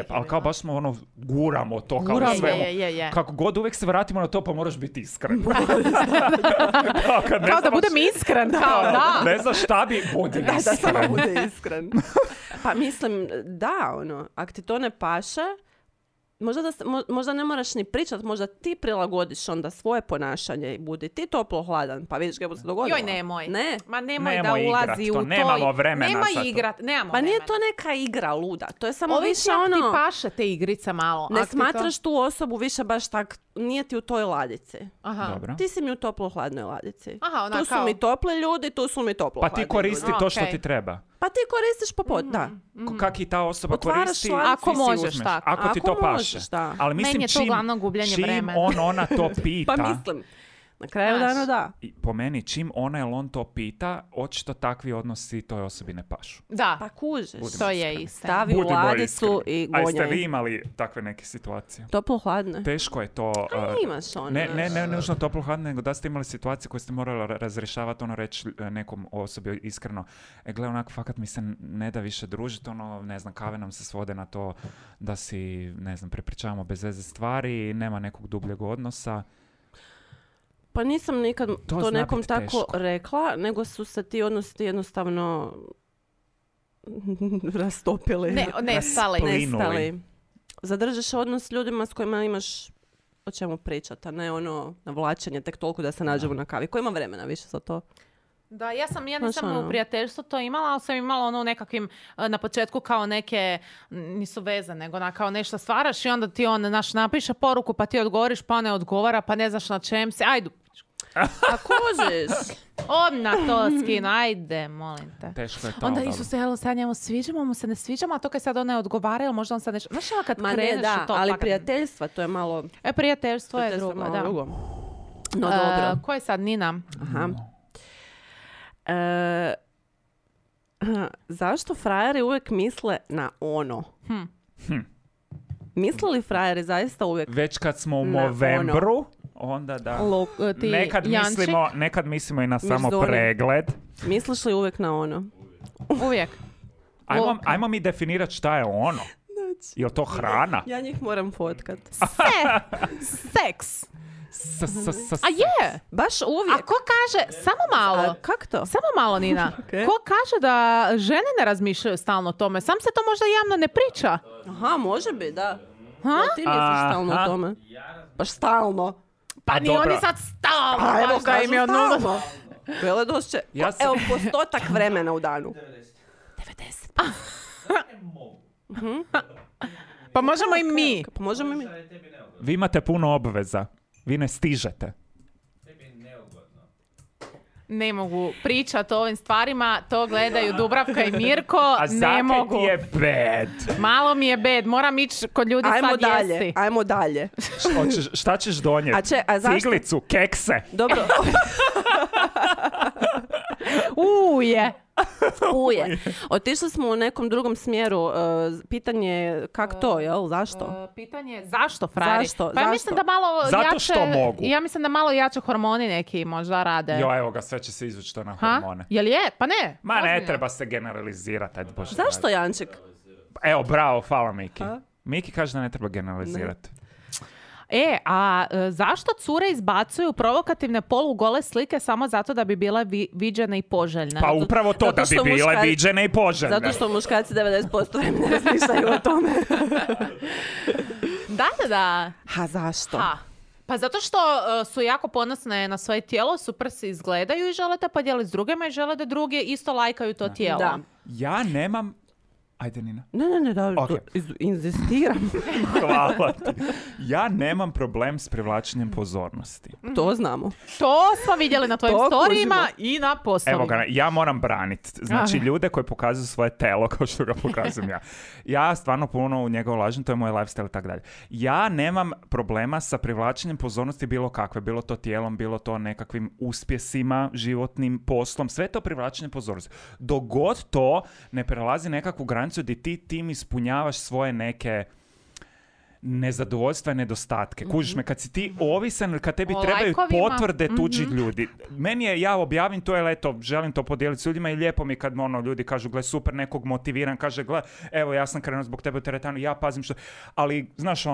Ali kao baš smo guramo to kao na svemu. Kako god uvijek se vratimo na to, pa moraš biti iskren. Kao da budem iskren. Ne znaš šta bi, budi iskren. Da samo bude iskren. Pa mislim, ako ti to ne paše, možda ne moraš ni pričat, možda ti prilagodiš onda svoje ponašanje i budi ti toplo hladan, pa vidiš kako se dogodilo. Joj, nemoj. Ne. Ma nemoj da ulazi u to. Nemamo vremena nemoj za to. igrat, nemamo Pa nije vremena. to neka igra luda, to je samo Ovisi više ako ti ono... paše te igrice malo. Ne Ak ti to- smatraš tu osobu više baš tak, nije ti u toj ladici. Aha. Dobro. Ti si mi u toplo-hladnoj ladici. Aha, ona tu su kao- mi topli ljudi, tu su mi Pa toplo-hladni ti koristi ljudi. to što Okej. ti treba. Pa ti koristiš da. Kak i ta osoba Otvaraš koristi, šlanac. Ako ti si možeš, uzmeš. tako. Ako ti to Ako paše. možeš, da. Ali mislim, Meni je to uglavnom gubljenje vremena. ona to pita, Pa mislim, na kraju Znaš. dana da. i po meni, čim ona ili on to pita, očito takvi odnosi toj osobi ne pašu. Da, Pa kužiš. to je istina. Stavi u Budimo ladicu iskreni. i A jeste vi gonjaj. imali takve neke situacije? Toplo-hladne. Teško je to... Imaš ono. Ne nužno toplo hladno, nego da ste imali situacije koje ste morali razrješavati, ono reći nekom osobi iskreno, gle, onak, fakat mi se ne da više družiti, ono, ne znam, kave nam se svode na to da si, ne znam, prepričavamo bez veze stvari, nema nekog dubljeg odnosa. Pa nisam nikad to zna nekom bit tako teško. rekla, nego su se ti odnosi jednostavno rastopili. Nestali. Raspli- Nestali. Zadržiš odnos s ljudima s kojima imaš o čemu pričati, a ne ono navlačenje tek toliko da se nađemo na kavi. Ko ima vremena više za to? Da, ja Znaš, nisam ono. u prijateljstvu to imala, ali sam imala ono u nekakvim, na početku kao neke, nisu veze, nego kao nešto stvaraš i onda ti napiše poruku, pa ti odgovoriš, pa ne odgovara, pa ne znaš na čem se, ajde, A kužiš? odmah to skinu, ajde, molim te. Teško je to. Onda dobro. Isuse, jel sad njemu sviđamo, mu se ne sviđamo, a to kad sad on ne odgovara, ili možda on sad nešto... Znaš, kad Ma ne, kreneš da, u to... ali fakat- prijateljstva, to je malo... Prijateljstvo je prijateljstvo drugo, malo da. drugo. No dobro. Ko je sad Nina? Aha. Zašto frajeri uvijek misle na ono? Misle li frajeri zaista uvijek Već kad smo u Na ono. novembru, onda da... Ti Jančik? Nekad mislimo i na samo Mirzoni. pregled. Misliš li uvijek na ono? Uvijek. Ajmo mi definirati šta je ono. Je li to hrana? Ja njih moram fotkat. Seks. A je! Baš A uvijek. ko kaže, samo malo, Kak to? samo malo Nina, Ok. ko kaže da žene ne razmišljaju stalno o tome? Sam se to možda javno ne priča. Aha, može bi, da. Ha? Jel ti misliš stalno Aha. o tome? Baš stalno. Pa A ni dobro. oni sad stalno. Pa evo, baš da im je kažu od nula. stalno. Veledošće. Ja sam- Evo, postotak vremena u danu. 90. Pa možemo i mi. Pa možemo i mi. Vi imate puno obveza. Vi ne stižete. Ne mogu pričati o ovim stvarima, to gledaju Dubravka i Mirko, A ne zakaj mogu. ti je bed? Malo mi je bed, moram ići kod ljudi Ajmo sad dalje, jesti. ajmo dalje. Šta ćeš donijeti? A zašto? Ciglicu, kekse. Dobro, Uje. uje. Otišli smo u nekom drugom smjeru. Pitanje je kak to, jel? Zašto? Pitanje je zašto frajeri? Zašto? Pa ja Zašto? mislim da malo Zato jače, što mogu. Ja mislim da malo jače hormoni neki možda rade. Jo, evo ga, sve će se izvući to na Ha? hormone. Jel je? Pa ne. Ma ne ozbiljno. treba se generalizirati, ajde Bože. Zašto, Janček? Evo, bravo, hvala Miki. A? Miki kaže da ne treba generalizirati. Zašto cure izbacuju provokativne polugole slike samo zato da bi bile viđene i poželjne? Pa upravo to, zato da bi što bile muškarci- viđene i poželjne. Zato što muškarci 90% vremena razmišljaju o tome. Da. Ha, zašto? Ha. Pa zato što su jako ponosne na svoje tijelo, super se izgledaju i žele to podijeliti s drugima i žele da drugi isto lajkaju to tijelo. Da. Ja nemam... Ajde, Nina. Ne, dobro, Ok. inzistiram. Hvala ti. Ja nemam problem s privlačenjem pozornosti. To znamo. To smo vidjeli na tvojim To storijima kužimo. i na postovima. Evo ga, ja moram braniti. Znači, Aha. ljude koji pokazuju svoje telo kao što ga pokazujem ja. Ja stvarno puno u njega ulažem, to je moj lifestyle i tako dalje. Ja nemam problema sa privlačenjem pozornosti bilo kakve, bilo to tijelom, bilo to nekakvim uspjesima, životnim poslom, sve to privlačenje pozornosti. Dok god to ne prelazi nekakvu granicu gdje ti tim ispunjavaš svoje neke nezadovoljstva i nedostatke. Kužiš me, kad si ti ovisan, kad tebi O trebaju lajkovima. potvrde tuđih ljudi. Meni je, ja objavim to, jer eto, želim to podijeliti s ljudima i lijepo mi kad ljudi kažu, gle, super, nekog motiviran, kaže, gle, evo, ja sam krenuo zbog tebe u teretanu, ja pazim što... Ali, znaš,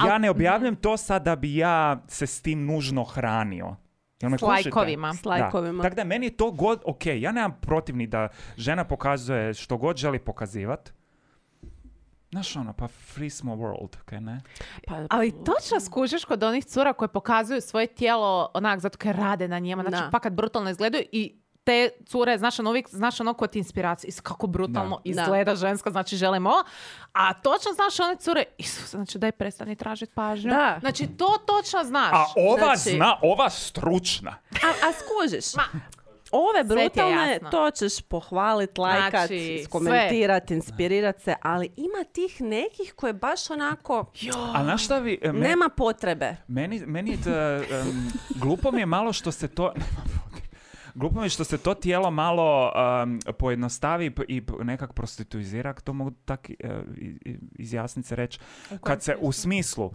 ja ne objavljam to sad da bi ja se s tim nužno hranio. Jel me S kužite? lajkovima. S lajkovima. Da. Tako da meni je to god, ok, ja nemam protiv ni da žena pokazuje što god želi pokazivati. Znaš ono, pa free small world, kaj ne? Ali točno skužiš kod onih cura koje pokazuju svoje tijelo onak zato kaj rade na njima. Znači, pa kad brutalno izgledaju i te cure, znaš ono kod inspiracije, kako brutalno izgleda ženska, znači želimo ovo. A točno znaš one cure, znači daj prestani tražiti pažnju. Da. Znači to točno znaš. A ova zna, ova stručna. A skužiš. Ove brutalne, to ćeš pohvaliti, lajkat, komentirati, inspirirati se, ali ima tih nekih koje baš onako a znaš šta vi, nema potrebe. Meni glupo mi je malo što se to... Glupo mi je što se to tijelo malo pojednostavi i nekak prostituizira, to mogu tak izjasniti se reći. Kad se u smislu...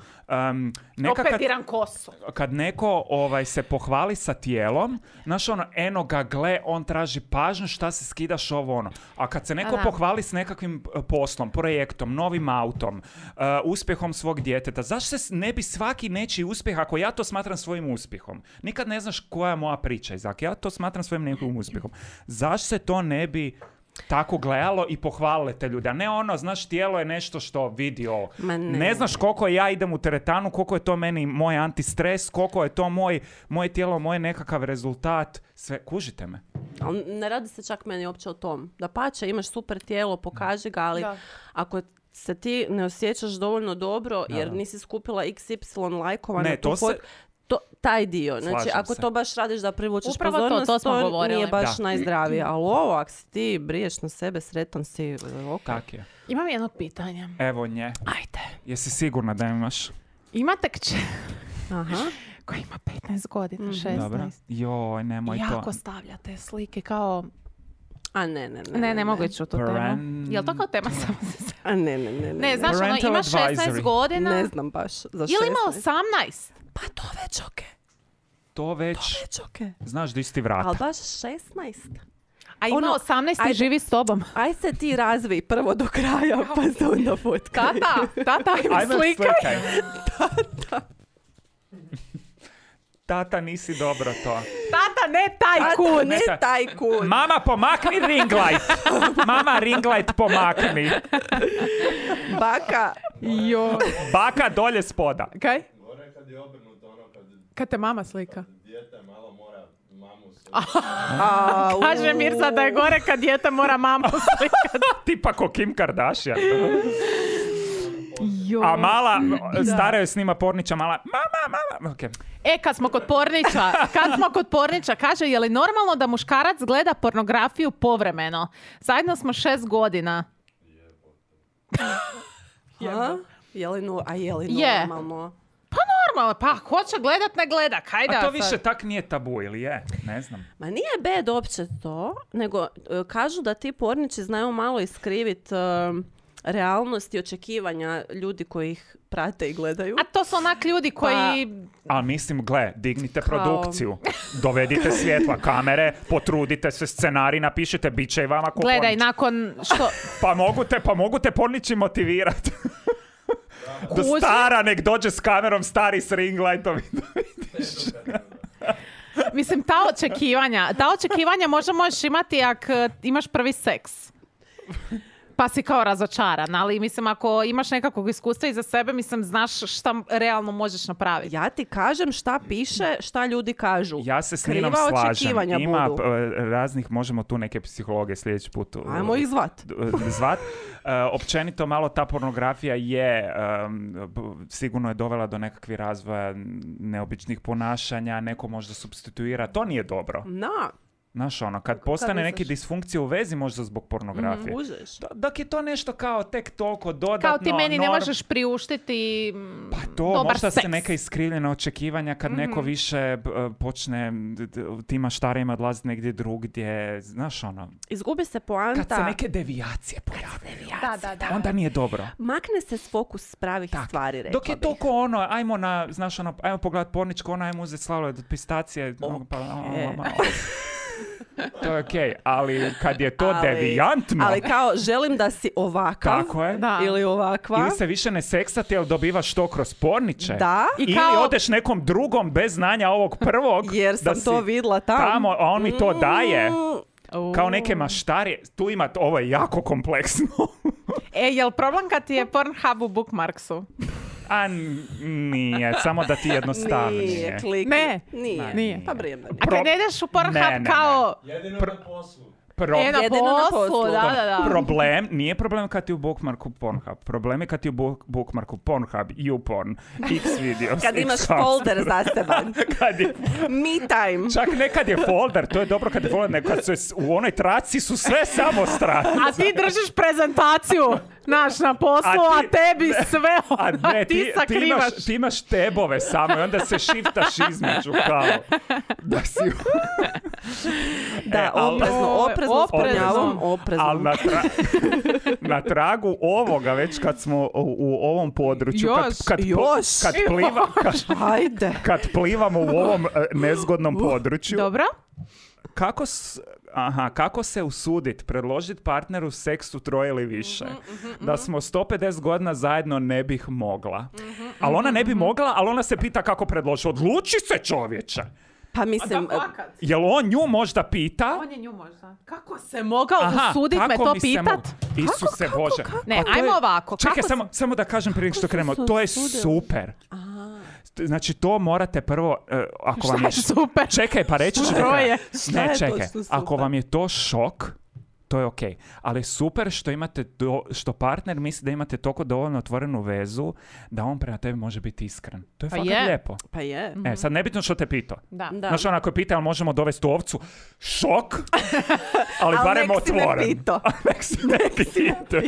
opetiram kosu. Kad neko se pohvali sa tijelom, znaš ono, eno ga gle, on traži pažnju, šta se skidaš ovo ono. A kad se neko pohvali s nekakvim poslom, projektom, novim autom, uspjehom svog djeteta, zašto se ne bi svaki nečiji uspjeh, ako ja to smatram svojim uspjehom? Nikad ne znaš koja je moja priča, Izak. Ja to smatram svojim nekim uspjehom. Zašto se to ne bi tako gledalo i pohvalile te ljude? A ne ono, znaš, tijelo je nešto što vidi ovo. Ne znaš koliko ja idem u teretanu, koliko je to meni moj antistres, koliko je to moje tijelo, moj nekakav rezultat. Sve, kužite me. Ne radi se čak meni uopće o tom. Da pače, imaš super tijelo, pokaži ga, ali ako se ti ne osjećaš dovoljno dobro jer nisi skupila XY lajkova na tu fotku, taj dio. Znači, ako to baš radiš da privučeš pozornost, to nije baš najzdravije. Ali ovo, ako si ti briješ na sebe, sretan si, okay. Tak je. Imam jedno pitanje. Evo nje. Ajde. Jesi sigurna da imaš? Imate kćer. Aha. Koja ima 15 godina, 16. Dobro. Joj, nemoj to. Jako stavljate slike kao... A ne mogu ići u tu temu. Jel to kao tema samo za sebe? A ne. Ne, znaš, ono, ima 16 godina. Ne znam baš za 16. Ili ima 18? Pa to već okej. To već okej. Znaš di si ti vrata. Ali baš 16. A ima 18 i živi s tobom. Aj se ti razvij prvo do kraja, pa se onda fotkaj. Tata, ajme slikaj. Tata, nisi dobro to. Tata, ne tajkun. Ne tajkun. Mama, pomakni ring light. Mama, ring light pomakni. Baka. Baka dolje spoda. Kaj? Gore kad je obrnuto ono kad te mama slika. Dijete malo mora mamu slika. Kaže Mirza da je gore kad dijete mora mamu slikati. Tipa ko Kim Kardashian. A mala, stara joj snima porniča, mala, mama, okay. Kad smo kod porniča, kaže, je li normalno da muškarac gleda pornografiju povremeno? Zajedno smo 6 godina. Je li normalno? Pa normalno, pa hoće gledat, ne gleda. A to više tak nije tabu, ili je? Ne znam. Ma nije bed opće to, nego kažu da ti porniči znaju malo iskrivit realnost i očekivanja ljudi koji ih prate i gledaju. A to su onak ljudi koji... Ali mislim, dignite produkciju. Dovedite svjetla, kamere, potrudite se, scenarij napišite, bit će i vama ko gledaj, pornič. nakon što... pa mogu te porniči motivirati. Do stara, nek dođe s kamerom, stari s ring lightom. Mislim, ta očekivanja možeš imati ako imaš prvi seks. Pa si kao razočaran, ali mislim ako imaš nekakvog iskustva iza sebe, mislim znaš šta realno možeš napraviti. Ja ti kažem šta piše, šta ljudi kažu. Ja se s Ninom slažem. Ima raznih, možemo tu neke psihologe sljedeći put ajmo ih zvat. Općenito malo ta pornografija je sigurno je dovela do nekakvih razvoja neobičnih ponašanja, neko možda supstituira, to nije dobro. Znaš ono, kad postane neke disfunkcije u vezi možda zbog pornografije. Dok je to nešto kao tek toliko dodatno... Kao ti meni ne možeš priuštiti pa to, dobar možda seks. Se neka iskrivljena očekivanja kad neko više počne tima štarima odlaziti negdje drugdje. Znaš ono... Izgubi se poanta. Kad se neke devijacije pojave. Da. Onda nije dobro. Makne se s fokus pravih stvari, rekla dok je to ko ono, ajmo pogledat porničko, ajmo uzeti slavlje pistacije. To je okej, ali kad je to devijantno... Ali kao, želim da si ovakav. Tako je. Ili ovakva. Ili se više ne seksati, jer dobivaš to kroz porniče. Da. Ili odeš nekom drugom bez znanja ovog prvog. Jer sam to vidla tamo. A on mi to daje. Kao neke maštarije. Tu ima, ovo je jako kompleksno. Jel problem kad ti je Pornhub u bookmarksu? A nije, samo da ti jednostavnije. Nije, klik. Ne. Nije. Pa vrijeme. A kad ne ideš u Pornhub Ne. kao... Jedino na poslu. Na poslu, da. Problem, nije problem kad ti u bookmarku Pornhub. Problem je kad ti u bookmarku Pornhub, YouPorn, Xvideos, Kad imaš folder zaseban. Me time. Čak ne kad je folder, to je dobro kad je folder, nego kad su u onoj traci su sve samo stranice. A ti držiš prezentaciju, na poslu, a tebi sve, A ti sakrivaš. Ti imaš tebove samo i onda se shiftaš između kao da si... Da, oprezno spominjavam, oprezno. Ali na tragu ovoga, već kad smo u ovom području, kad plivamo u ovom nezgodnom području, dobro. Kako se usuditi, predložiti partneru seks u 3 ili više? Da smo 150 godina zajedno ne bih mogla. Ali ona ne bi mogla, ali ona se pita kako predloži. Odluči se, čovječe! Pa mislim... Jel on nju možda pita? On je nju možda. Kako se mogao usuditi me to pitat? Isuse Bože. Ne, ajmo ovako. Čekaj, samo da kažem prije što krenemo. To je super. Znači, to morate prvo... Ako vam je super? Čekaj, pa reći ću... Ne, čekaj. Ako vam je to šok, to je okej. Ali super što imate što partner misli da imate toliko dovoljno otvorenu vezu da on prema tebi može biti iskren. To je fakat lijepo. Pa je. Sad nebitno što te pitao. Da. Znaš, onako je pitao, ali možemo dovesti ovcu? Šok! Ali barem otvoren. Nek si me pitao.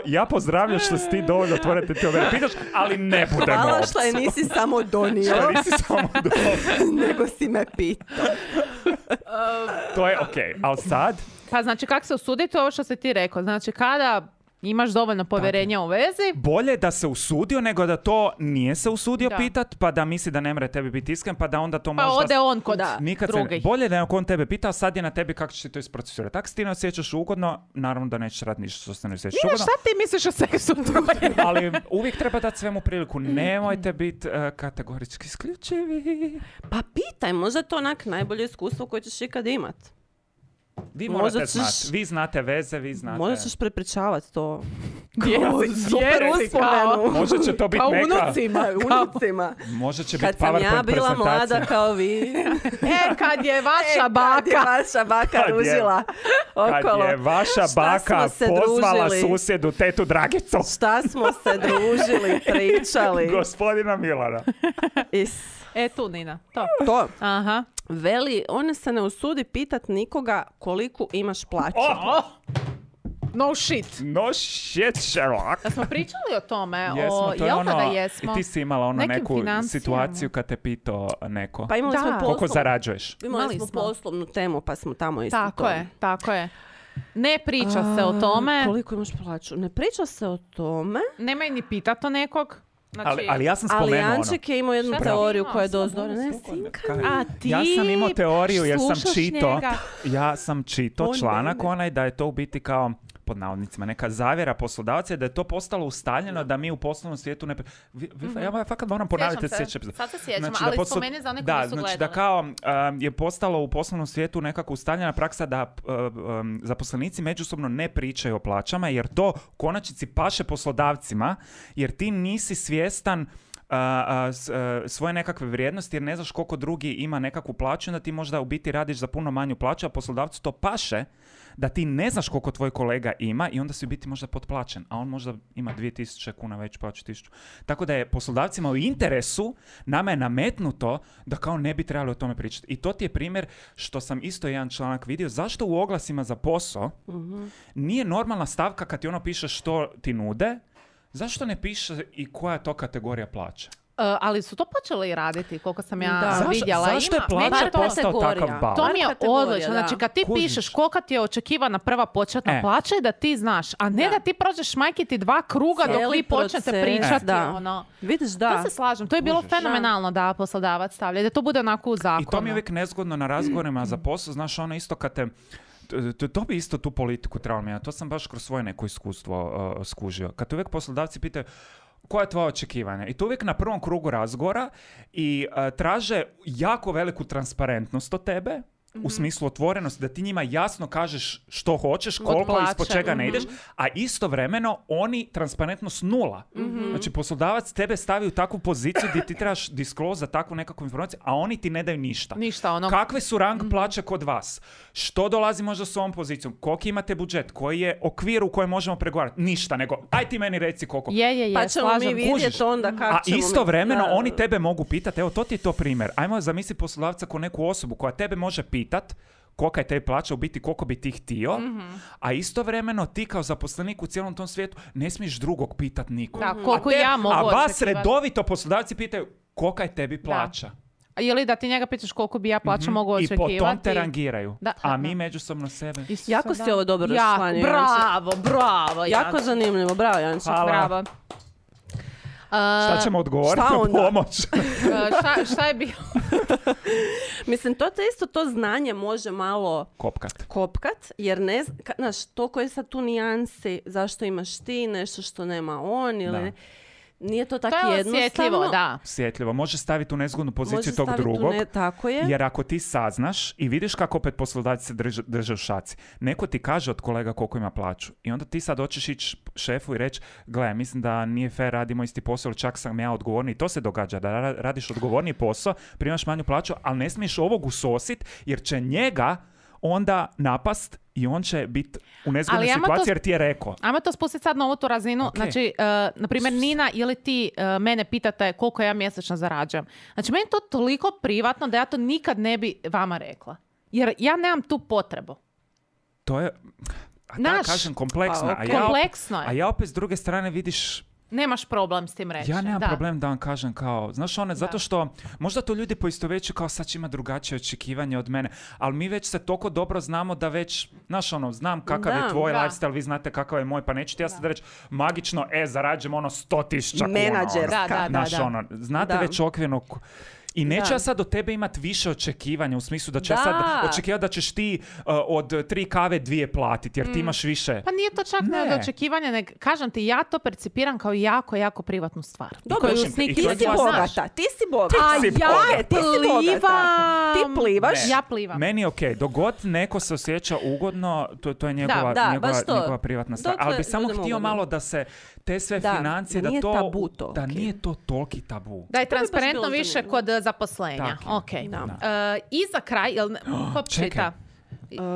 Ja pozdravljam što si ti dovoljno otvoren, ti ove pitaš, ali ne budemo ovcu. Hvala što je nisi samo donio. Nego si me pitao. To je okej. Ali sad... Pa znači, kako se usuditi, ovo što si ti rekao. Znači, kada imaš dovoljno povjerenja u vezi... Bolje da se usudio nego da to nije se usudio pitat, pa da misli da ne mre tebi biti iskren, pa da onda to možda... Pa ode on kod drugih. Bolje da je on tebe pitao, sad je na tebi kako će ti to isprocesirati. Tako se ti ne osjećaš ugodno, naravno da nećeš raditi ništa što se ne osjećaš ugodno. Šta ti misliš o seksu troje? Ali uvijek treba dati svemu priliku. Nemojte biti kategorički isključivi. Pa pitaj, možda je to onak najbolje iskustvo koje ćeš ikad imat. Vi morate znati. Vi znate veze, vi znate... Možda ćeš prepričavati to. Super uspomenu. Možda će to biti neka... Unucima. Možda će biti PowerPoint prezentacija. Kad sam ja bila mlada kao vi. Kad je vaša baka ružila okolo. Kad je vaša baka pozvala susjedu tetu Dragicu. Šta smo se družili, pričali. Gospodina Milana. Tu, Nina. To. Aha. Veli, ona se ne usudi pitat nikoga koliko imaš plaću. No shit. No shit, Sherlock. Da smo pričali o tome. Jesmo, to je jel ono, da jesmo? I ti si imala neku situaciju kad te pitao neko. Pa imali smo koliko zarađuješ? Imali smo poslovnu temu, pa smo tamo isto Tako je. Ne priča se o tome. Koliko imaš plaću? Ne priča se o tome. Nemoj ni pitati o nekog. Znači, ali ja sam spomenuo ono. Ali Janček je imao jednu teoriju koja je dozdora. Ja sam imao teoriju jer sam čitao članak onaj da je to u biti kao pod navodnicima neka zavjera poslodavca i da je to postalo ustaljeno da mi u poslovnom svijetu ne... Ja fakat moram ponavljati sljedeće epizode. Sad se sjećam, ali spomeni za one koji nisu gledali. Da kao je postalo u poslovnom svijetu nekako ustaljena praksa da zaposlenici međusobno ne pričaju o plaćama jer to u konačnici paše poslodavcima jer ti nisi svjestan svoje nekakve vrijednosti jer ne znaš koliko drugi ima nekakvu plaću onda ti možda u biti radiš za puno manju plaću a poslodavcu to paše da ti ne znaš koliko tvoj kolega ima i onda si u biti možda potplaćen, a on možda ima 2000 kuna već plaću 1000. Tako da je poslodavcima u interesu, nama je nametnuto da kao ne bi trebali o tome pričati. I to ti je primjer što sam isto jedan članak vidio, zašto u oglasima za posao nije normalna stavka kad ti ono piše što ti nude, zašto ne piše i koja je to kategorija plaća? Ali su to počeli raditi, koliko sam ja vidjela. Zašto je plaća postao takav bal? To mi je odlično. Znači, kad ti pišeš kolika ti je očekivana prva početna plaća, da ti znaš, a ne da ti prođeš majkiti 2 kruga dok vi počnete pričati. Vidiš, da. To se slažem. To je bilo fenomenalno da poslodavac stavlja, da to bude onako u zakonu. I to mi je uvijek nezgodno na razgovorima za posao. Znaš, ono isto kad te... To bi isto tu politiku trebalo mijenjati. To sam baš kroz svoje neko iskustvo skužio. Kad te uvijek poslodavci pitaju koja je tvoja očekivanja? I to uvijek na prvom krugu razgovora i traže jako veliku transparentnost od tebe. u smislu otvorenosti, da ti njima jasno kažeš što hoćeš, koliko i ispod čega ne ideš, a istovremeno oni transparentnost 0. Znači poslodavac tebe stavi u takvu poziciju gdje ti trebaš disclose za takvu nekakvu informaciju, a oni ti ne daju ništa. Kakve su rang plaće kod vas? Što dolazi možda s ovom pozicijom? Koliki imate budžet? Koji je okvir u kojem možemo pregovarati? Ništa, nego aj ti meni reci koliko. Pa ćemo mi vidjeti onda kako ćemo... A istovremeno oni tebe mogu pitati, evo to ti je to primjer. Ajmo zamisli poslodavca kao neku osobu koja tebe može pitat kolika je tebi plaća, u biti koliko bi ti htio, a istovremeno ti kao zaposlenik u cijelom tom svijetu ne smiješ drugog pitat nikog. Da, koliko ja mogu očekivati. A vas redovito poslodavci pitaju kolika je tebi plaća. Da. Ili da ti njega pitaš koliko bi ja plaća mogu očekivati. I po tom te rangiraju. A mi međusobno sebe. Jako si ovo dobro raščlanio. Bravo. Jako zanimljivo, bravo Janček. Bravo. Šta ćemo odgovoriti na pomoć? Šta je bilo? Mislim, to isto to znanje može malo kopkat, jer ne znaš, toliko je sad tu nijansi zašto imaš ti nešto što nema on ili nije to tako jednostavno. Osjetljivo. Može staviti u nezgodnu poziciju tog drugog. Tako je. Jer ako ti saznaš i vidiš kako opet poslodavci se drže u šaci, neko ti kaže od kolega koliko ima plaću i onda ti sad hoćeš ići šefu i reći, gle, mislim da nije fair, radimo isti posao, ili čak sam ja odgovorni. I to se događa, da radiš odgovorniji posao, primaš manju plaću, ali ne smiješ ovog usosit jer će njega onda napast i on će biti u nezgodnoj situaciji jer ti je rekao. Ajmo to spustiti sad na ovu tu razinu. Okay. Znači, na primjer, Nina ili ti mene pitate koliko ja mjesečno zarađujem. Znači, meni to toliko privatno da ja to nikad ne bi vama rekla. Jer ja nemam tu potrebu. To je, kažem, kompleksna. Kompleksno je. A ja opet s druge strane vidiš... Nemaš problem s tim reći. Ja nemam problem da vam kažem kao, znaš zato što možda to ljudi poistovjećuju kao sad će ima drugačije očekivanje od mene, ali mi već se toliko dobro znamo da već, znaš znam kakav je tvoj lifestyle, vi znate kakav je moj, pa neću ti ja sad reći magično, zarađujem 100,000 kuna. Menadžerska. Znate već okvirno... I neću ja sad od tebe imati više očekivanja u smislu da ću ja sad očekivati da ćeš ti od 3 kave 2 platiti jer ti imaš više. Pa nije to čak ne od očekivanja, kažem ti, ja to percipiram kao jako, jako privatnu stvar. Dobro, ti si bogata. Ti plivaš. Ja plivam. Meni je okej, dok god neko se osjeća ugodno, to je njegova privatna stvar. Ali bi samo htio malo da se te sve financije, da nije to toliki tabu. Da je transparentno više kod zaposlenja. I za kraj, ko čita?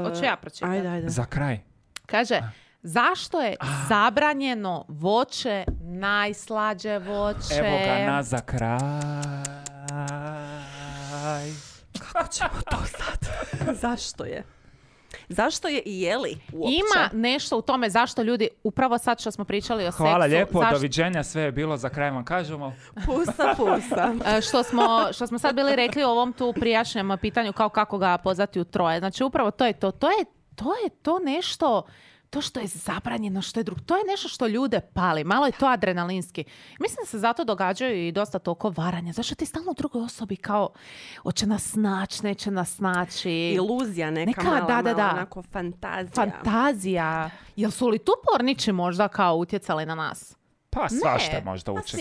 Hoću ja pročitati. Ajde. Za kraj. Kaže, zašto je zabranjeno voće najslađe voće? Evo ga na za kraj. Kako ćemo to sad? Zašto je i jeli uopće? Ima nešto u tome zašto ljudi, upravo sad što smo pričali o seksu... Hvala lijepo, doviđenja, sve je bilo, za kraj vam kažemo. Pusa. Što smo sad bili rekli o ovom tu prijašnjem pitanju kao kako ga pozvati u troje. Znači upravo to je to. To je to nešto... To što je zabranjeno, što je drugo, to je nešto što ljude pali. Malo je to adrenalinski. Mislim da se zato događaju i dosta toliko varanja. Zašto ti stalno u drugoj osobi kao hoće nas naći, neće nas naći. Iluzija neka mala, onako fantazija. Jel su li tu porniči možda kao utjecali na nas? Pa svašta možda uče.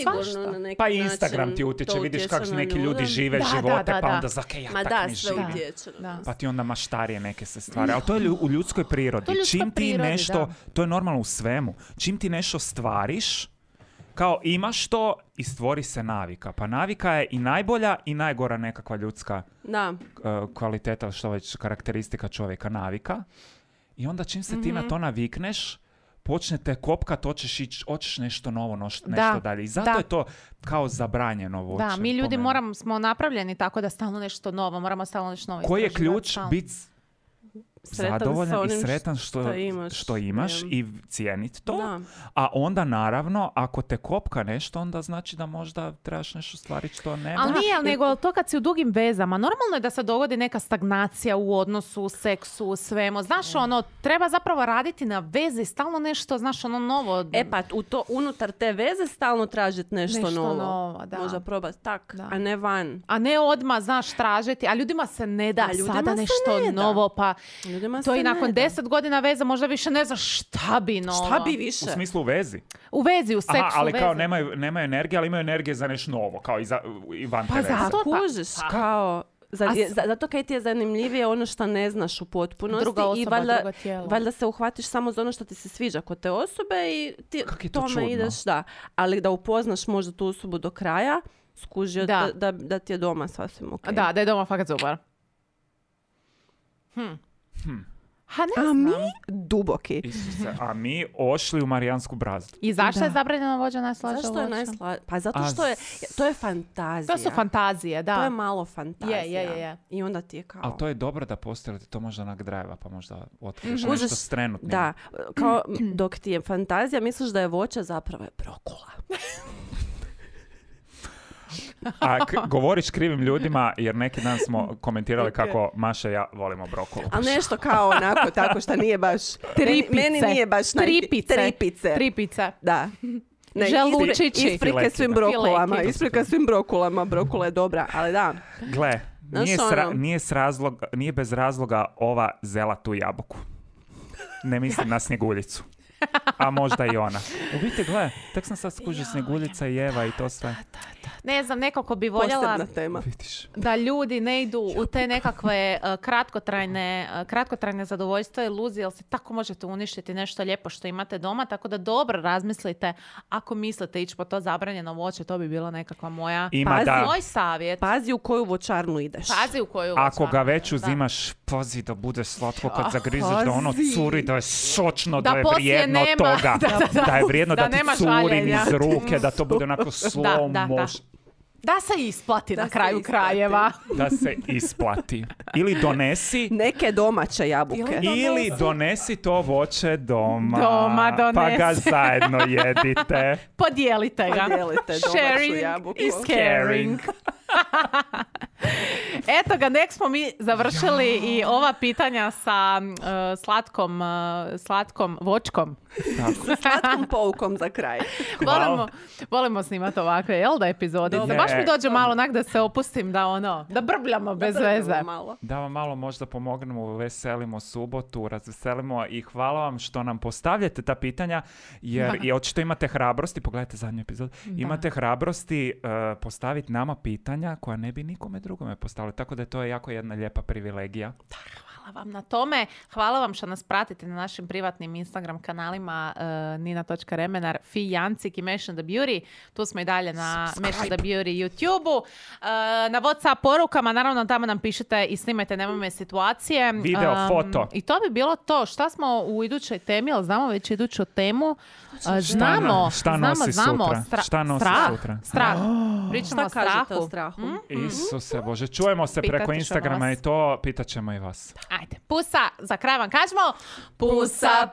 Pa Instagram ti utječe, vidiš kako neki ljudi žive živote, pa onda zake ja tak ne živim. Pa ti onda maštarije neke se stvari. Ali to je u ljudskoj prirodi. Čim ti nešto, to je normalno u svemu, čim ti nešto stvariš, kao imaš to i stvori se navika. Pa navika je i najbolja i najgora nekakva ljudska kvaliteta, što već karakteristika čovjeka, navika. I onda čim se ti na to navikneš, počnete kopkat, hoćeš nešto novo, nešto dalje. I zato je to kao zabranjeno voće. Da, mi ljudi smo napravljeni tako da stalno nešto novo, moramo stalno nešto novo. Koji je ključ? Biti zadovoljan i sretan što imaš i cijeniti to. Da. A onda naravno, ako te kopka nešto, onda znači da možda trebaš nešto stvariti što nema. Ali nije, nego to kad si u dugim vezama, normalno je da se dogodi neka stagnacija u odnosu, u seksu, u svemu. Znaš, treba zapravo raditi na vezi, stalno nešto, znaš, novo. Pa unutar te veze stalno tražiti nešto novo. Možda probati tak, a ne van. A ne odmah, znaš, tražiti, a ljudima se ne da sada nešto novo, pa to i nakon 10 godina veza možda više ne znaš šta bi novo. Šta bi više? U smislu u vezi? U vezi, u seksu. Ali kao nemaju energije, ali imaju energije za nešto novo, kao i van te veze. Pa zato kužiš, kao Zato kaj ti je zanimljivije ono što ne znaš u potpunosti. Druga osoba, drugo tijelo. Valjda se uhvatiš samo za ono što ti se sviđa kod te osobe i ti tome ideš, da. Ali da upoznaš možda tu osobu do kraja, skužio da ti je doma sasvim ok. Da je doma fakat super. Ha, ne znam. Mi duboki. Isuse, a mi ošli u Marijansku brazdu. I zašto je zabranjeno vođa najslađa? Zašto je najslađa? Pa zato što to je fantazija. To su fantazije, da. To je malo fantazija. Je. I onda ti je kao... Ali to je dobro da postoji, to možda onak drajeva, pa možda otkriješ nešto s trenutnim. Da, kao dok ti je fantazija, misliš da je voće, zapravo je brokula. A govoriš krivim ljudima, jer neki dan smo komentirali kako Maša i ja volimo brokulu. A nešto kao onako, tako što nije baš... Meni nije baš... Tripice. Da. Želučići. Isprike svim brokulama. Brokula je dobra, ali da. Gle, nije bez razloga ova zela tu jabuku. Ne mislim na Snjeguljicu. A možda i ona. U biti, gle, tek sam sad skužio Snjeguljica i Eva i to sve. Ne znam, nekako bi voljela da ljudi ne idu u te nekakve kratkotrajne zadovoljstva i iluzije, jer se tako možete uništiti nešto lijepo što imate doma, tako da dobro razmislite ako mislite ići po to zabranjeno voće, to bi bila nekakva moj savjet. Pazi u koju voćarnu ideš. Ako ga već uzimaš, pazi da bude slatko kad zagrizeš, da ono curi, da je sočno, da je vrijedno toga. Da je vrijedno da ti curim iz ruke, da to bude onako slow motion. Da se isplati na kraju krajeva. Da se isplati. Ili donesi... neke domaće jabuke. Ili donesi to voće doma. Donesi. Pa ga zajedno jedite. Podijelite ga. Sharing jabuku. Is caring. Eto ga, nek smo mi završili i ova pitanja sa slatkom vočkom. Sa slatkom poukom za kraj. Volimo snimati ovakve, jel da, epizodice? Baš mi dođe malo onak da se opustim, da brbljamo bez veze. Malo. Da vam malo možda pomognemo, veselimo subotu, razveselimo i hvala vam što nam postavljate ta pitanja, jer i očito imate hrabrosti, pogledajte zadnju epizodu, imate hrabrosti postaviti nama pitanja koja ne bi nikome drugome postavili, tako da je to jako jedna lijepa privilegija. Hvala vam na tome. Hvala vam što nas pratite na našim privatnim Instagram kanalima Nina.Remenar, Fi Jancik i Mesh and the Beauty. Tu smo i dalje na Mesh and the Beauty YouTube-u. Na WhatsApp porukama, naravno tamo nam pišete i snimajte nemojme situacije. Video, foto. I to bi bilo to. Šta smo u idućoj temi, ali znamo već iduću temu. Znamo. Šta nosi sutra? Strah. Pričamo o strahu. Isuse Bože, čujemo se preko Instagrama i to pitat ćemo i vas. Ajde, pusa, za kraj vam kažemo pusa.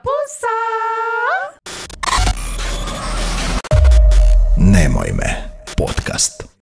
Nemoj me.